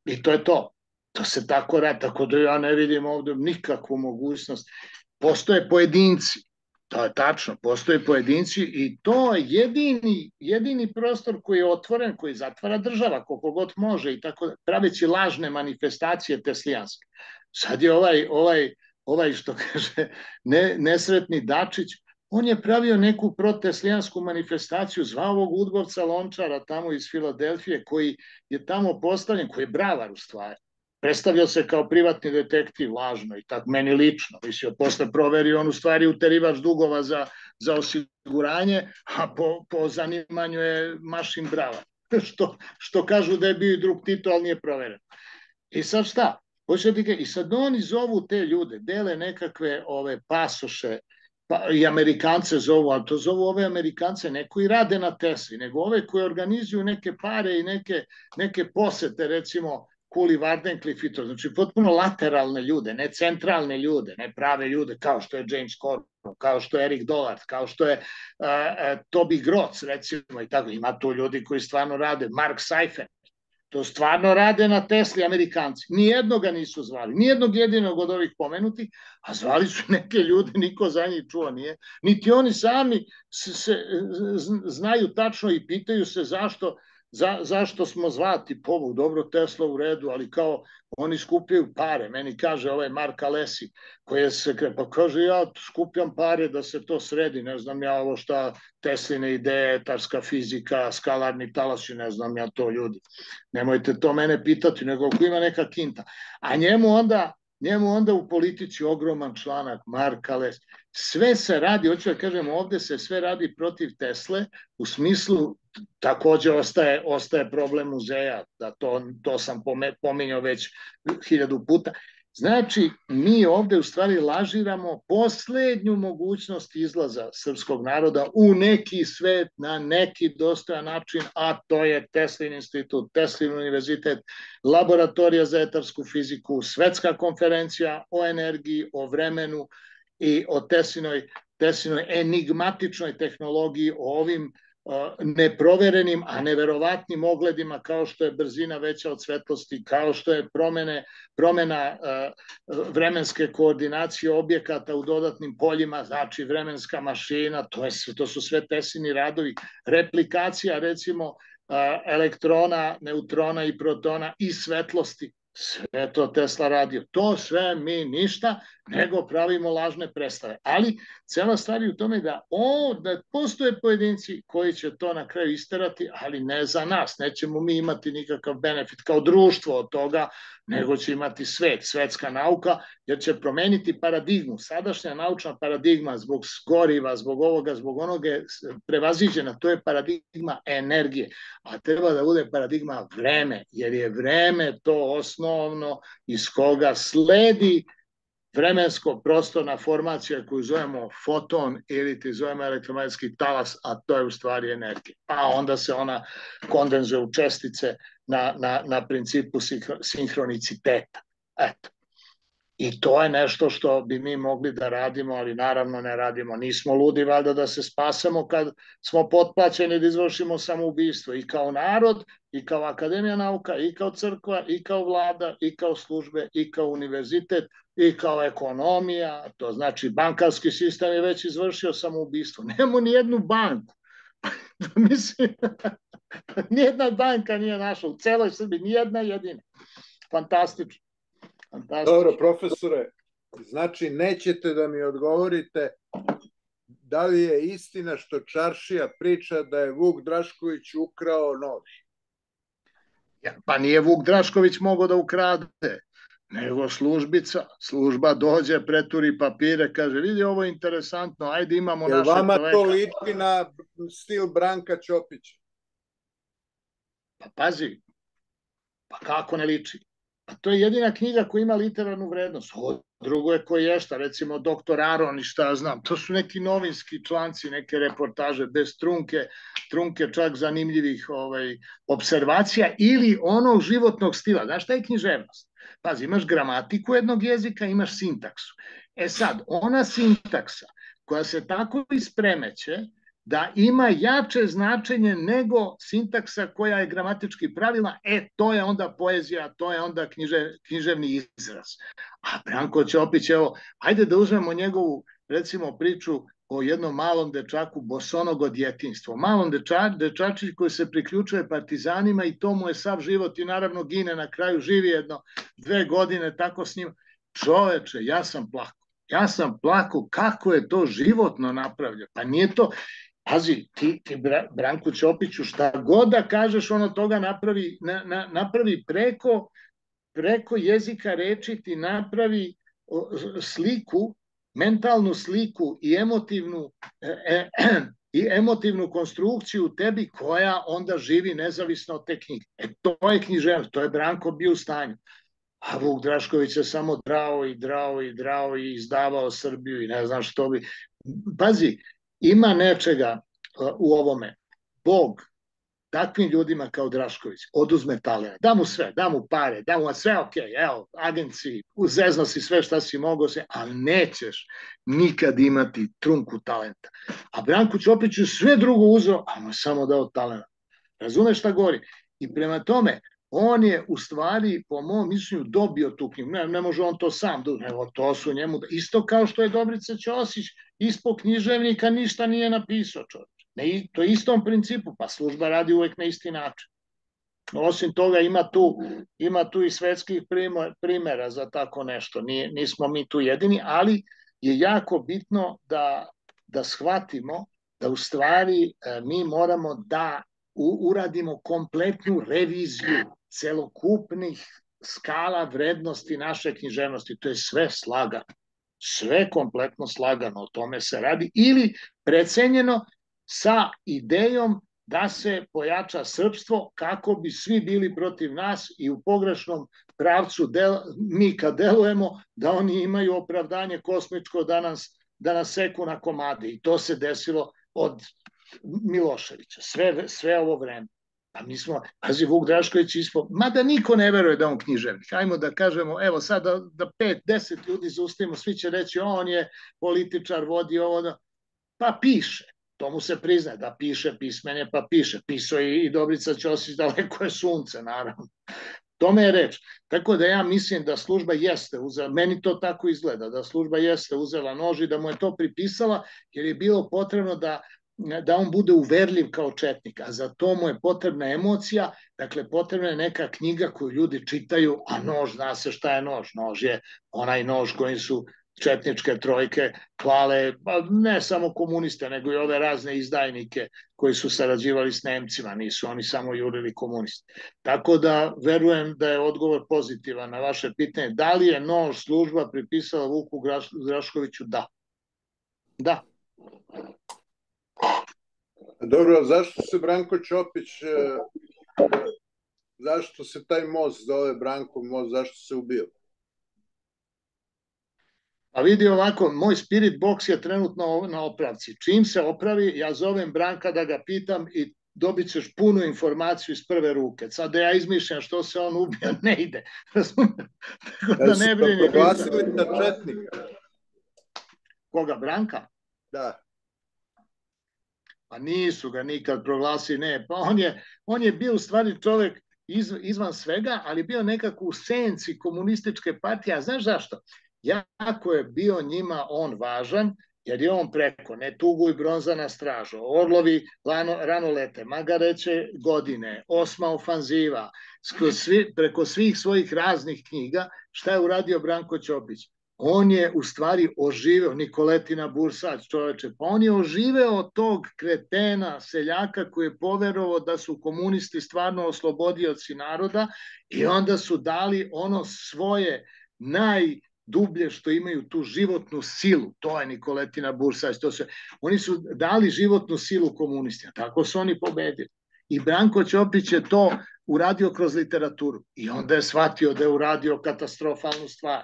i to je to. To se tako radi, tako da ja ne vidim ovde nikakvu mogućnost. Postoje pojedinci, to je tačno, postoje pojedinci i to je jedini, jedini prostor koji je otvoren, koji zatvara država koliko god može i tako praveći lažne manifestacije teslijanske. Sad je ovaj, ovaj, ovaj što kaže ne, nesretni Dačić, on je pravio neku proteslijansku manifestaciju, zvao ovog Udgovca Lončara tamo iz Filadelfije koji je tamo postavljen, koji je bravar u stvari. Predstavljao se kao privatni detektiv, lažno i tako, meni lično. Mislio, posle proverio on u stvari uterivač dugova za, za osiguranje, a po, po zanimanju je mašin brava. Što, što kažu da je bio i drug Tito, ali nije proveren. I sad šta? I sad oni zovu te ljude, dele nekakve ove pasoše, pa, i Amerikance zovu, ali to zovu ove Amerikance ne koji rade na Tesli, nego ove koji organizuju neke pare i neke, neke posete, recimo, Kuli Vardencliffe i to, znači potpuno lateralne ljude, ne centralne ljude, ne prave ljude, kao što je James Corbyn, kao što je Eric Dollard, kao što je uh, uh, Toby Grots, recimo, i tako, ima tu ljudi koji stvarno rade, Mark Seifert, to stvarno rade na Tesli Amerikanci, nijednoga nisu zvali, nijednog jedinog od ovih pomenutih, a zvali su neke ljude, niko za njih čuo nije, niti oni sami se, se, znaju tačno i pitaju se zašto Za, zašto smo zvati povuk, dobro Tesla u redu, ali kao oni skupljaju pare, meni kaže ovaj Mark Alesi, koji je sekret, pa kaže ja skupljam pare da se to sredi, ne znam ja ovo šta Tesline ideje, etarska fizika, skalarni talasi, ne znam ja to ljudi, nemojte to mene pitati, nego ako ima neka kinta, a njemu onda njemu onda u politici ogroman članak, Mark Alesi, sve se radi, hoću da kažem, ovde se sve radi protiv Tesle, u smislu takođe ostaje, ostaje problem muzeja, da to, to sam pominjao već hiljadu puta. Znači, mi ovde u stvari lažiramo poslednju mogućnost izlaza srpskog naroda u neki svet, na neki dostojan način, a to je Teslin institut, Teslin univerzitet, laboratorija za etarsku fiziku, svetska konferencija o energiji, o vremenu i o Teslinoj, Teslinoj enigmatičnoj tehnologiji, o ovim neproverenim, a neverovatnim ogledima kao što je brzina veća od svetlosti, kao što je promene, promena uh, vremenske koordinacije objekata u dodatnim poljima, znači vremenska mašina, to, je, to su sve Teslini radovi, replikacija recimo uh, elektrona, neutrona i protona i svetlosti, sve to Tesla radio. To sve mi ništa, nego pravimo lažne predstave. Ali cela stvar je u tome da, o, da postoje pojedinci koji će to na kraju isterati, ali ne za nas. Nećemo mi imati nikakav benefit kao društvo od toga, nego će imati svet, svetska nauka, jer će promeniti paradigmu. Sadašnja naučna paradigma zbog goriva, zbog ovoga, zbog onoga je prevaziđena. To je paradigma energije, a treba da bude paradigma vreme, jer je vreme to osnovno iz koga sledi vremensko prostorna formacija koju zovemo foton ili ti zovemo elektromagnetski talas, a to je u stvari energija. A onda se ona kondenzuje u čestice na, na, na principu sinhroniciteta. Eto. I to je nešto što bi mi mogli da radimo, ali naravno ne radimo. Nismo ludi valjda da se spasemo kad smo potplaćeni da izvršimo samoubistvo. I kao narod, i kao Akademija nauka, i kao crkva, i kao vlada, i kao službe, i kao univerzitet, i kao ekonomija. To znači bankarski sistem je već izvršio samoubistvo. Nemo ni jednu banku. Mislim, nijedna banka nije našla u celoj Srbiji, nijedna jedina. Fantastično. Dobro, profesore, znači nećete da mi odgovorite da li je istina što Čaršija priča da je Vuk Drašković ukrao nož? Ja, pa nije Vuk Drašković mogao da ukrade, nego službica. Služba dođe, preturi papire, kaže, vidi ovo je interesantno, ajde imamo Jel našeg čoveka. vama to liči na stil Branka Ćopića? Pa pazi, pa kako ne liči? Pa to je jedina knjiga koja ima literarnu vrednost. Ovo drugo je koji je šta, recimo doktor Aron i šta ja znam. To su neki novinski članci, neke reportaže bez trunke, trunke čak zanimljivih ovaj, observacija ili onog životnog stila. Znaš šta je književnost? Pazi, imaš gramatiku jednog jezika, imaš sintaksu. E sad, ona sintaksa koja se tako ispremeće da ima jače značenje nego sintaksa koja je gramatički pravilna, e, to je onda poezija, to je onda knjiže, književni izraz. A Branko Ćopić, evo, ajde da uzmemo njegovu, recimo, priču o jednom malom dečaku bosonogo djetinjstvo. Malom deča, dečačić koji se priključuje partizanima i to mu je sav život i naravno gine na kraju, živi jedno dve godine tako s njim. Čoveče, ja sam plako. Ja sam plako kako je to životno napravljeno. Pa nije to... Pazi, ti, ti Branku Ćopiću šta god da kažeš, ono toga napravi, na, na, napravi preko, preko jezika reči, ti napravi sliku, mentalnu sliku i emotivnu, e, e, i emotivnu konstrukciju u tebi koja onda živi nezavisno od te knjige. E, to je književnost, to je Branko bio u stanju. A Vuk Drašković je samo drao i drao i drao i izdavao Srbiju i ne znam što bi... Pazi, ima nečega u ovome. Bog takvim ljudima kao Drašković oduzme talent, da mu sve, da mu pare, da mu sve ok, evo, agenciji, uzezno si sve šta si mogao se, ali nećeš nikad imati trunku talenta. A Branku Ćopiću sve drugo uzeo, a mu je samo dao talent. Razumeš šta govori? I prema tome, on je u stvari, po mom mišljenju, dobio tu knjigu. Ne, ne može on to sam, nego to su njemu. Isto kao što je Dobrica Ćosić ispod književnika ništa nije napisao, čovječ. Ne, to je istom principu, pa služba radi uvek na isti način. Osim toga ima tu, ima tu i svetskih primera za tako nešto. Nije, nismo mi tu jedini, ali je jako bitno da, da shvatimo da u stvari mi moramo da uradimo kompletnu reviziju celokupnih skala vrednosti naše književnosti. To je sve slagano. Sve kompletno slagano, o tome se radi. Ili precenjeno sa idejom da se pojača srpstvo kako bi svi bili protiv nas i u pogrešnom pravcu del, mi kad delujemo da oni imaju opravdanje kosmičko da nas, da nas seku na komade. I to se desilo od Miloševića, sve, sve ovo vreme. A mi smo, pazi, Vuk Drašković ispod, mada niko ne veruje da on književnik. Hajmo da kažemo, evo sad da, da pet, deset ljudi zaustavimo, svi će reći on je političar, vodi ovo, da... pa piše. To mu se priznaje, da piše, pismen je, pa piše. Pisao i, i Dobrica Ćosić, daleko je sunce, naravno. Tome je reč. Tako da ja mislim da služba jeste uzela, meni to tako izgleda, da služba jeste uzela nož i da mu je to pripisala, jer je bilo potrebno da da on bude uverljiv kao četnik, a za to mu je potrebna emocija, dakle potrebna je neka knjiga koju ljudi čitaju, a nož, zna se šta je nož, nož je onaj nož kojim su četničke trojke klale, ne samo komuniste, nego i ove razne izdajnike koji su sarađivali s Nemcima, nisu oni samo jurili komunisti. Tako da verujem da je odgovor pozitivan na vaše pitanje, da li je nož služba pripisala Vuku Draškoviću? Da. Da. Dobro, zašto se Branko Ćopić, zašto se taj most zove Branko most, zašto se ubio? A vidi ovako, moj spirit box je trenutno na opravci. Čim se opravi, ja zovem Branka da ga pitam i dobit ćeš punu informaciju iz prve ruke. Sad da ja izmišljam što se on ubio, ne ide. Tako da ne brini. Da proglasili za četnika. Koga, Branka? Da. Pa nisu ga nikad proglasili, ne. Pa on je, on je bio u stvari čovjek iz, izvan svega, ali bio nekako u senci komunističke partije. A znaš zašto? Jako je bio njima on važan, jer je on preko Ne tuguj bronzana straža, Orlovi lano, rano lete, Magareće godine, Osma ofanziva, svi, preko svih svojih raznih knjiga, šta je uradio Branko Ćopić? On je u stvari oživeo, Nikoletina Bursać, čoveče, pa on je oživeo tog kretena, seljaka koji je poverovao da su komunisti stvarno oslobodioci naroda i onda su dali ono svoje naj dublje što imaju tu životnu silu, to je Nikoletina Bursać, to se, oni su dali životnu silu komunistima, tako su oni pobedili. I Branko Ćopić je to uradio kroz literaturu i onda je shvatio da je uradio katastrofalnu stvar,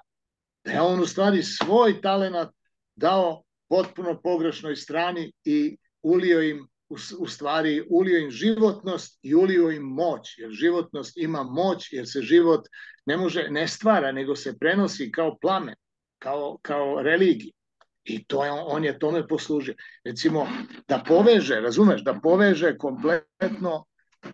da je on u stvari svoj talenat dao potpuno pogrešnoj strani i ulio im u, u stvari ulio im životnost i ulio im moć, jer životnost ima moć, jer se život ne može, ne stvara, nego se prenosi kao plamen, kao, kao religija. I to je, on je tome poslužio. Recimo, da poveže, razumeš, da poveže kompletno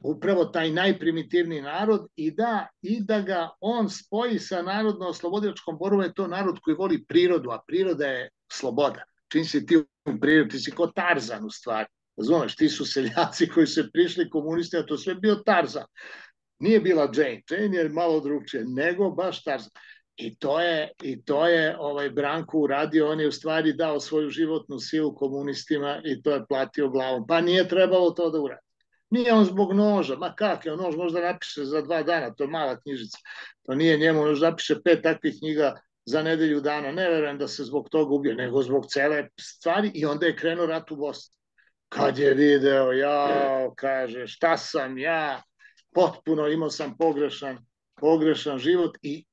upravo taj najprimitivniji narod i da, i da ga on spoji sa narodno-oslobodilačkom borbom, je to narod koji voli prirodu, a priroda je sloboda. Čim si ti u prirodi, ti si kao Tarzan u stvari. Razumeš, ti su seljaci koji su prišli komunisti, a to sve bio Tarzan. Nije bila Jane, Jane je malo drugčije, nego baš Tarzan. I to je, i to je ovaj Branko uradio, on je u stvari dao svoju životnu silu komunistima i to je platio glavom. Pa nije trebalo to da uradi. Nije on zbog noža, ma kak je, on nož možda napiše za dva dana, to je mala knjižica. To nije njemu, on napiše pet takvih knjiga za nedelju dana. Ne verujem da se zbog toga ubio, nego zbog cele stvari i onda je krenuo rat u Bosni. Kad je video, ja, kaže, šta sam ja, potpuno imao sam pogrešan, pogrešan život, i,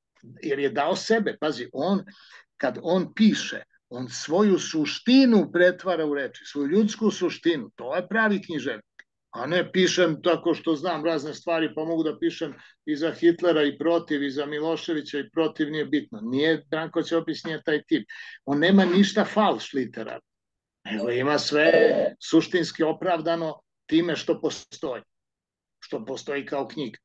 jer je dao sebe, pazi, on, kad on piše, on svoju suštinu pretvara u reči, svoju ljudsku suštinu, to je pravi književnik, a ne pišem tako što znam razne stvari, pa mogu da pišem i za Hitlera i protiv, i za Miloševića i protiv, nije bitno, nije, Branko Ćopić nije taj tip, on nema ništa falš literarno, nego ima sve suštinski opravdano time što postoji, što postoji kao knjiga.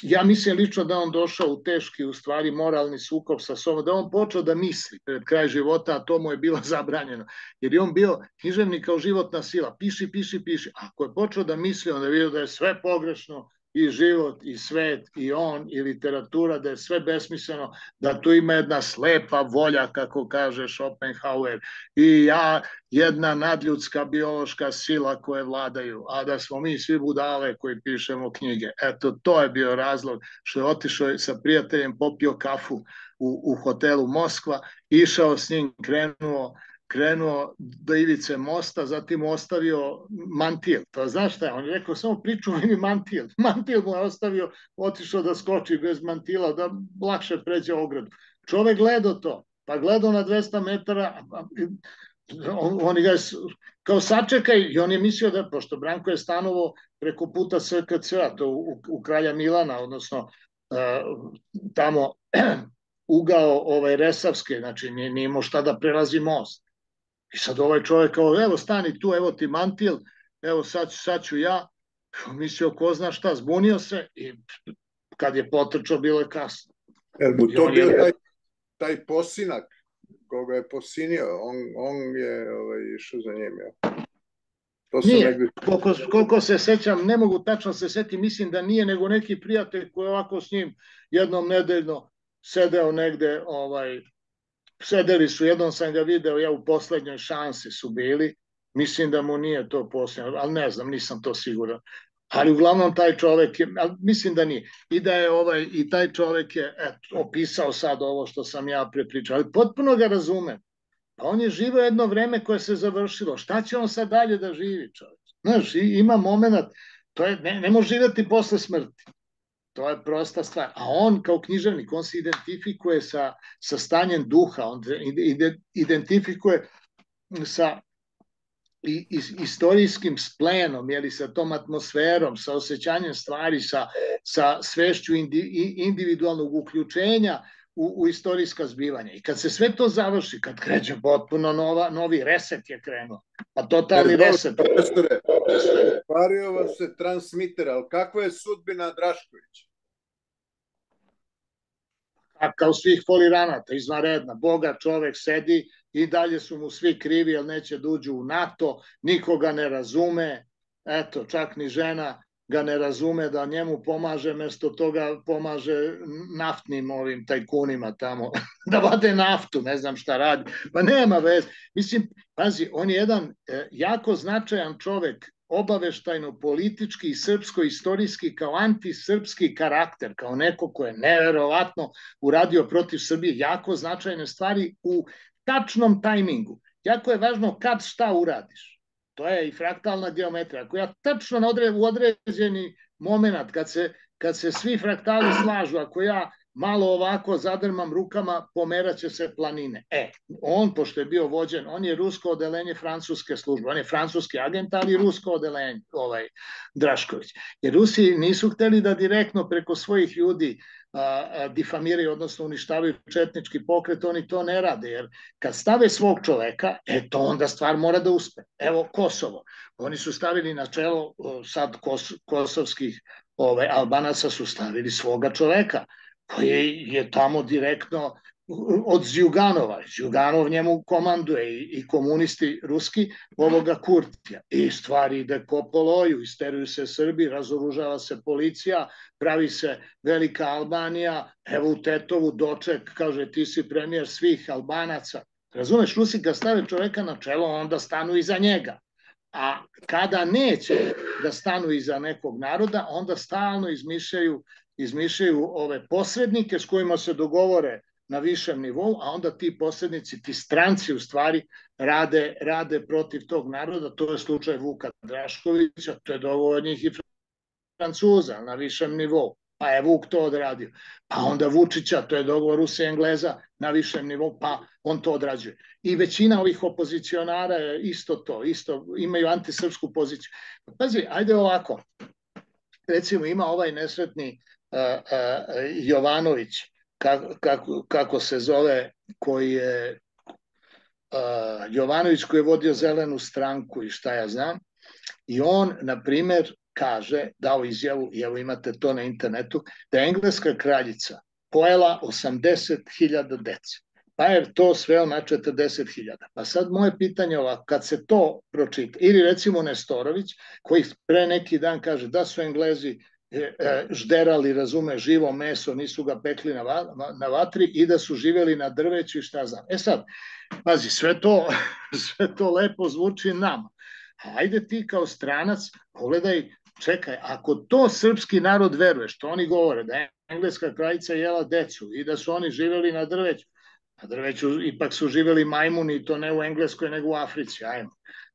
Ja mislim lično da on došao u teški, u stvari, moralni sukob sa sobom, da on počeo da misli pred kraj života, a to mu je bilo zabranjeno. Jer je on bio književnik kao životna sila, piši, piši, piši. Ako je počeo da misli, onda je vidio da je sve pogrešno, i život, i svet, i on, i literatura, da je sve besmisleno, da tu ima jedna slepa volja, kako kaže Schopenhauer, i ja, jedna nadljudska biološka sila koje vladaju, a da smo mi svi budale koji pišemo knjige. Eto, to je bio razlog što je otišao sa prijateljem, popio kafu u, u hotelu Moskva, išao s njim, krenuo krenuo do ivice mosta, zatim mu ostavio mantil. To znaš šta je? On je rekao, samo pričuvaj mi mantil. Mantil mu je ostavio, otišao da skoči bez mantila, da lakše pređe ogradu. Čovek gledao to, pa gledao na dvesta metara, on, oni ga kao sačekaj, i on je mislio da, pošto Branko je stanovo preko puta S K C-a, to u, u Kralja Milana, odnosno uh, tamo ugao ovaj Resavske, znači nije, nije imao šta da prelazi most. I sad ovaj čovjek kao, evo stani tu, evo ti mantil, evo sad, sad ću ja, mislio ko zna šta, zbunio se i kad je potrčao bilo je kasno. Jer mu to bio taj, taj posinak koga je posinio, on, on je ovaj, išao za njim. Ja. To nije, negdje... koliko, koliko se sećam, ne mogu tačno se setiti, mislim da nije, nego neki prijatelj koji ovako s njim jednom nedeljno sedeo negde, ovaj, sedeli su, jednom sam ga video, ja u poslednjoj šansi su bili, mislim da mu nije to posljedno, ali ne znam, nisam to siguran. Ali uglavnom taj čovek je, ali mislim da nije. I da je ovaj, i taj čovek je eto, opisao sad ovo što sam ja prepričao, ali potpuno ga razumem. Pa on je živio jedno vreme koje se završilo. Šta će on sad dalje da živi, čovjek? Znaš, ima moment, to je, ne, ne može živjeti posle smrti. To je prosta stvar. A on kao književnik, on se identifikuje sa, sa stanjem duha, on identifikuje sa i, i istorijskim splenom, jeli, sa tom atmosferom, sa osjećanjem stvari, sa, sa svešću indi, individualnog uključenja u, u istorijska zbivanja. I kad se sve to završi, kad kreće potpuno nova, novi reset je krenuo, pa totalni reset. Profesore, pario vam se transmiter, ali kakva je sudbina Draškovića? A kao svih foliranata, izvanredna. Boga čovek sedi i dalje su mu svi krivi, jer neće da uđu u NATO, nikoga ne razume, eto, čak ni žena ga ne razume da njemu pomaže, mesto toga pomaže naftnim ovim tajkunima tamo, da vade naftu, ne znam šta radi, pa nema veze. Mislim, pazi, on je jedan e, jako značajan čovek, obaveštajno, politički i srpsko-istorijski, kao antisrpski karakter, kao neko ko je neverovatno uradio protiv Srbije jako značajne stvari u tačnom tajmingu. Jako je važno kad šta uradiš. To je i fraktalna geometrija. Ako ja tačno u određeni moment, kad se, kad se svi fraktali slažu, ako ja malo ovako zadrmam rukama, pomeraće se planine. E, on, pošto je bio vođen, on je rusko odelenje francuske službe, on je francuski agent, ali rusko odelenje, ovaj, Drašković. Jer Rusi nisu hteli da direktno preko svojih ljudi a, a, difamiraju, odnosno uništavaju četnički pokret, oni to ne rade, jer kad stave svog čoveka, e, to onda stvar mora da uspe. Evo, Kosovo. Oni su stavili na čelo sad kos, kosovskih ovaj, Albanaca su stavili svoga čoveka, koji je tamo direktno od Zjuganova. Zjuganov njemu komanduje i, i komunisti ruski ovoga Kurtija. I stvari ide ko po loju, isteruju se Srbi, razoružava se policija, pravi se velika Albanija, evo u Tetovu doček, kaže ti si premijer svih Albanaca. Razumeš, Rusi ga stave čoveka na čelo, onda stanu iza njega. A kada neće da stanu iza nekog naroda, onda stalno izmišljaju izmišljaju ove posrednike s kojima se dogovore na višem nivou, a onda ti posrednici, ti stranci u stvari rade, rade protiv tog naroda. To je slučaj Vuka Draškovića, to je dogovor njih i Francuza na višem nivou, pa je Vuk to odradio. Pa onda Vučića, to je dogovor Rusa i Engleza na višem nivou, pa on to odrađuje. I većina ovih opozicionara je isto to, isto imaju antisrpsku poziciju. Pazi, ajde ovako, recimo ima ovaj nesretni Uh, uh, Jovanović, kako, kako, kako se zove, koji je uh, Jovanović koji je vodio Zelenu stranku i šta ja znam, i on, na primer, kaže, dao izjavu, i evo imate to na internetu, da je engleska kraljica pojela osamdeset hiljada dece, pa je to sveo na četrdeset hiljada. Pa sad moje pitanje je ovako, kad se to pročita, ili recimo Nestorović, koji pre neki dan kaže da su Englezi žderali, razume, živo meso, nisu ga pekli na, va, na vatri i da su živjeli na drveću i šta znam. E sad, pazi, sve to, sve to lepo zvuči nama. Ajde ti kao stranac, pogledaj, čekaj, ako to srpski narod veruje, što oni govore, da je engleska kraljica jela decu i da su oni živjeli na drveću, na drveću ipak su živjeli majmuni i to ne u Engleskoj nego u Africi, ajmo.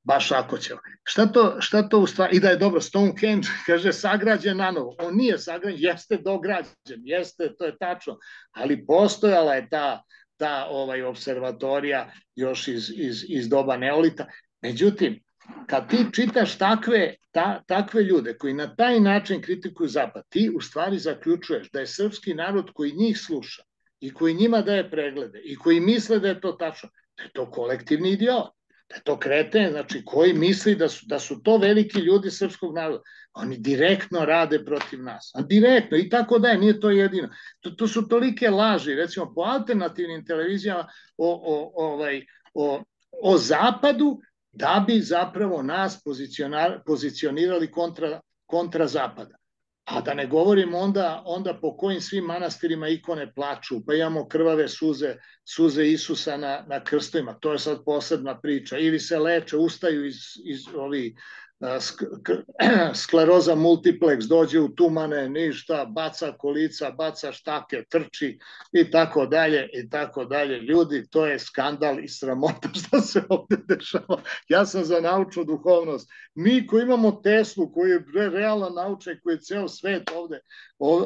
Baš ako će. Šta to, šta to u stvari, i da je dobro, Stonehenge, kaže, sagrađen na novo. On nije sagrađen, jeste dograđen, jeste, to je tačno, ali postojala je ta, ta ovaj, observatorija još iz, iz, iz doba neolita. Međutim, kad ti čitaš takve, ta, takve ljude koji na taj način kritikuju Zapad, ti u stvari zaključuješ da je srpski narod koji njih sluša i koji njima daje preglede i koji misle da je to tačno, da je to kolektivni idiot. Da je to kreten, znači koji misli da su, da su to veliki ljudi srpskog naroda. Oni direktno rade protiv nas. A direktno i tako da je, nije to jedino. To, to su tolike laži, recimo po alternativnim televizijama o, o, ovaj, o, o Zapadu, da bi zapravo nas pozicionirali kontra, kontra Zapada. A da ne govorim onda, onda po kojim svim manastirima ikone plaču, pa imamo krvave suze, suze Isusa na, na krstovima, to je sad posebna priča, ili se leče, ustaju iz, iz ovih skleroza multiplex, dođe u tumane, ništa, baca kolica, baca štake, trči i tako dalje i tako dalje. Ljudi, to je skandal i sramota što se ovde dešava. Ja sam za naučnu duhovnost. Mi koji imamo Teslu, koji je realan naučaj, koji je ceo svet ovde,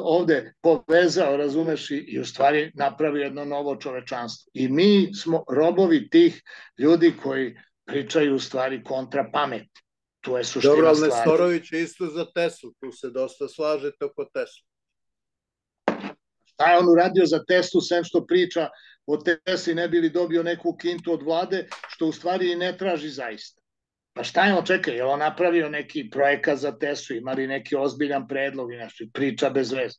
ovde povezao, razumeš, i, i u stvari napravio jedno novo čovečanstvo. I mi smo robovi tih ljudi koji pričaju u stvari kontra pameti. Tu je suština stvari. Dobro, ali Nestorović je isto za Teslu, tu se dosta slažete oko Teslu. Šta je on uradio za Teslu, sem što priča o Tesli, ne bi li dobio neku kintu od vlade, što u stvari i ne traži zaista. Pa šta je on, čekaj, je on napravio neki projekat za Teslu, imali neki ozbiljan predlog i nešto, priča bez veze.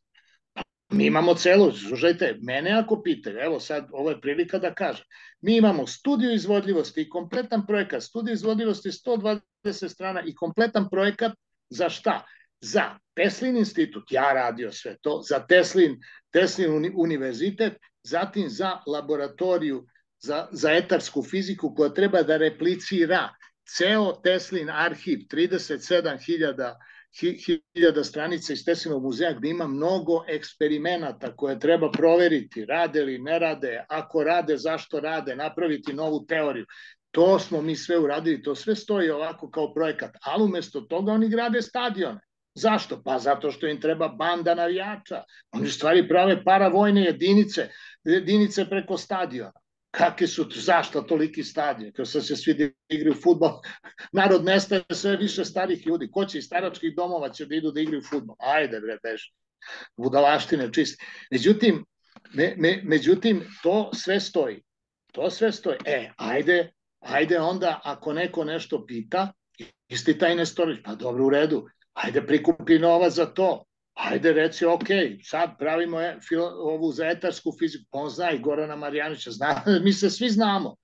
Mi imamo celo, slušajte, mene ako pitaju, evo sad, ovo je prilika da kažem, mi imamo studiju izvodljivosti i kompletan projekat, studiju izvodljivosti sto dvadeset strana i kompletan projekat za šta? Za Teslin institut, ja radio sve to, za Teslin, Teslin univerzitet, zatim za laboratoriju za, za etarsku fiziku koja treba da replicira ceo Teslin arhiv, trideset sedam hiljada stranica iz Teslinog muzeja gde ima mnogo eksperimenata koje treba proveriti, rade li, ne rade, ako rade, zašto rade, napraviti novu teoriju. To smo mi sve uradili, to sve stoji ovako kao projekat, ali umesto toga oni grade stadione. Zašto? Pa zato što im treba banda navijača. Oni stvari prave paravojne jedinice, jedinice preko stadiona. Kakvi su, zašto toliki stadion? Kao sad se svi da igraju fudbal, narod nestaje sve više starih ljudi. Ko će iz staračkih domova će da idu da igraju fudbal? Ajde bre, beži. Budalaštine čiste. Međutim, me, me, međutim, to sve stoji. To sve stoji. E, ajde, ajde onda, ako neko nešto pita, isti taj Nestorović, pa dobro, u redu, ajde prikupi novac za to. Ajde reci, ok, sad pravimo ovu za etarsku fiziku, pa on zna i Gorana Marjanovića, zna, mi se svi znamo,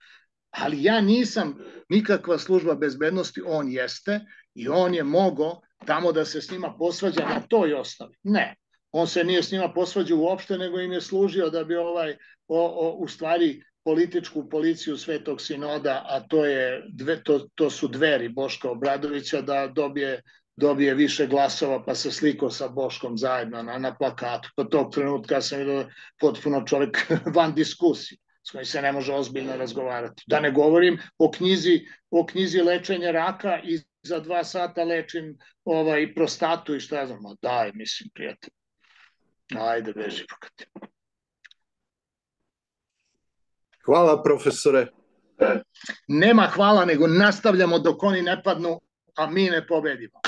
ali ja nisam nikakva služba bezbednosti, on jeste i on je mogao tamo da se s njima posvađa na toj osnovi. Ne, on se nije s njima posvađao uopšte, nego im je služio da bi ovaj, o, o, u stvari, političku policiju Svetog Sinoda, a to, je, dve, to, to su Dveri Boška Obradovića, da dobije dobije više glasova, pa se slikao sa Boškom zajedno na, na plakatu. Po tog trenutka sam vidio potpuno čovjek van diskusije, s kojim se ne može ozbiljno razgovarati. Da ne govorim o knjizi, o knjizi lečenja raka i za dva sata lečim ovaj, prostatu i šta znam. Daj, mislim, prijatelj. Ajde, beži pokati. Hvala, profesore. Nema hvala, nego nastavljamo dok oni ne padnu, a mi ne pobedimo.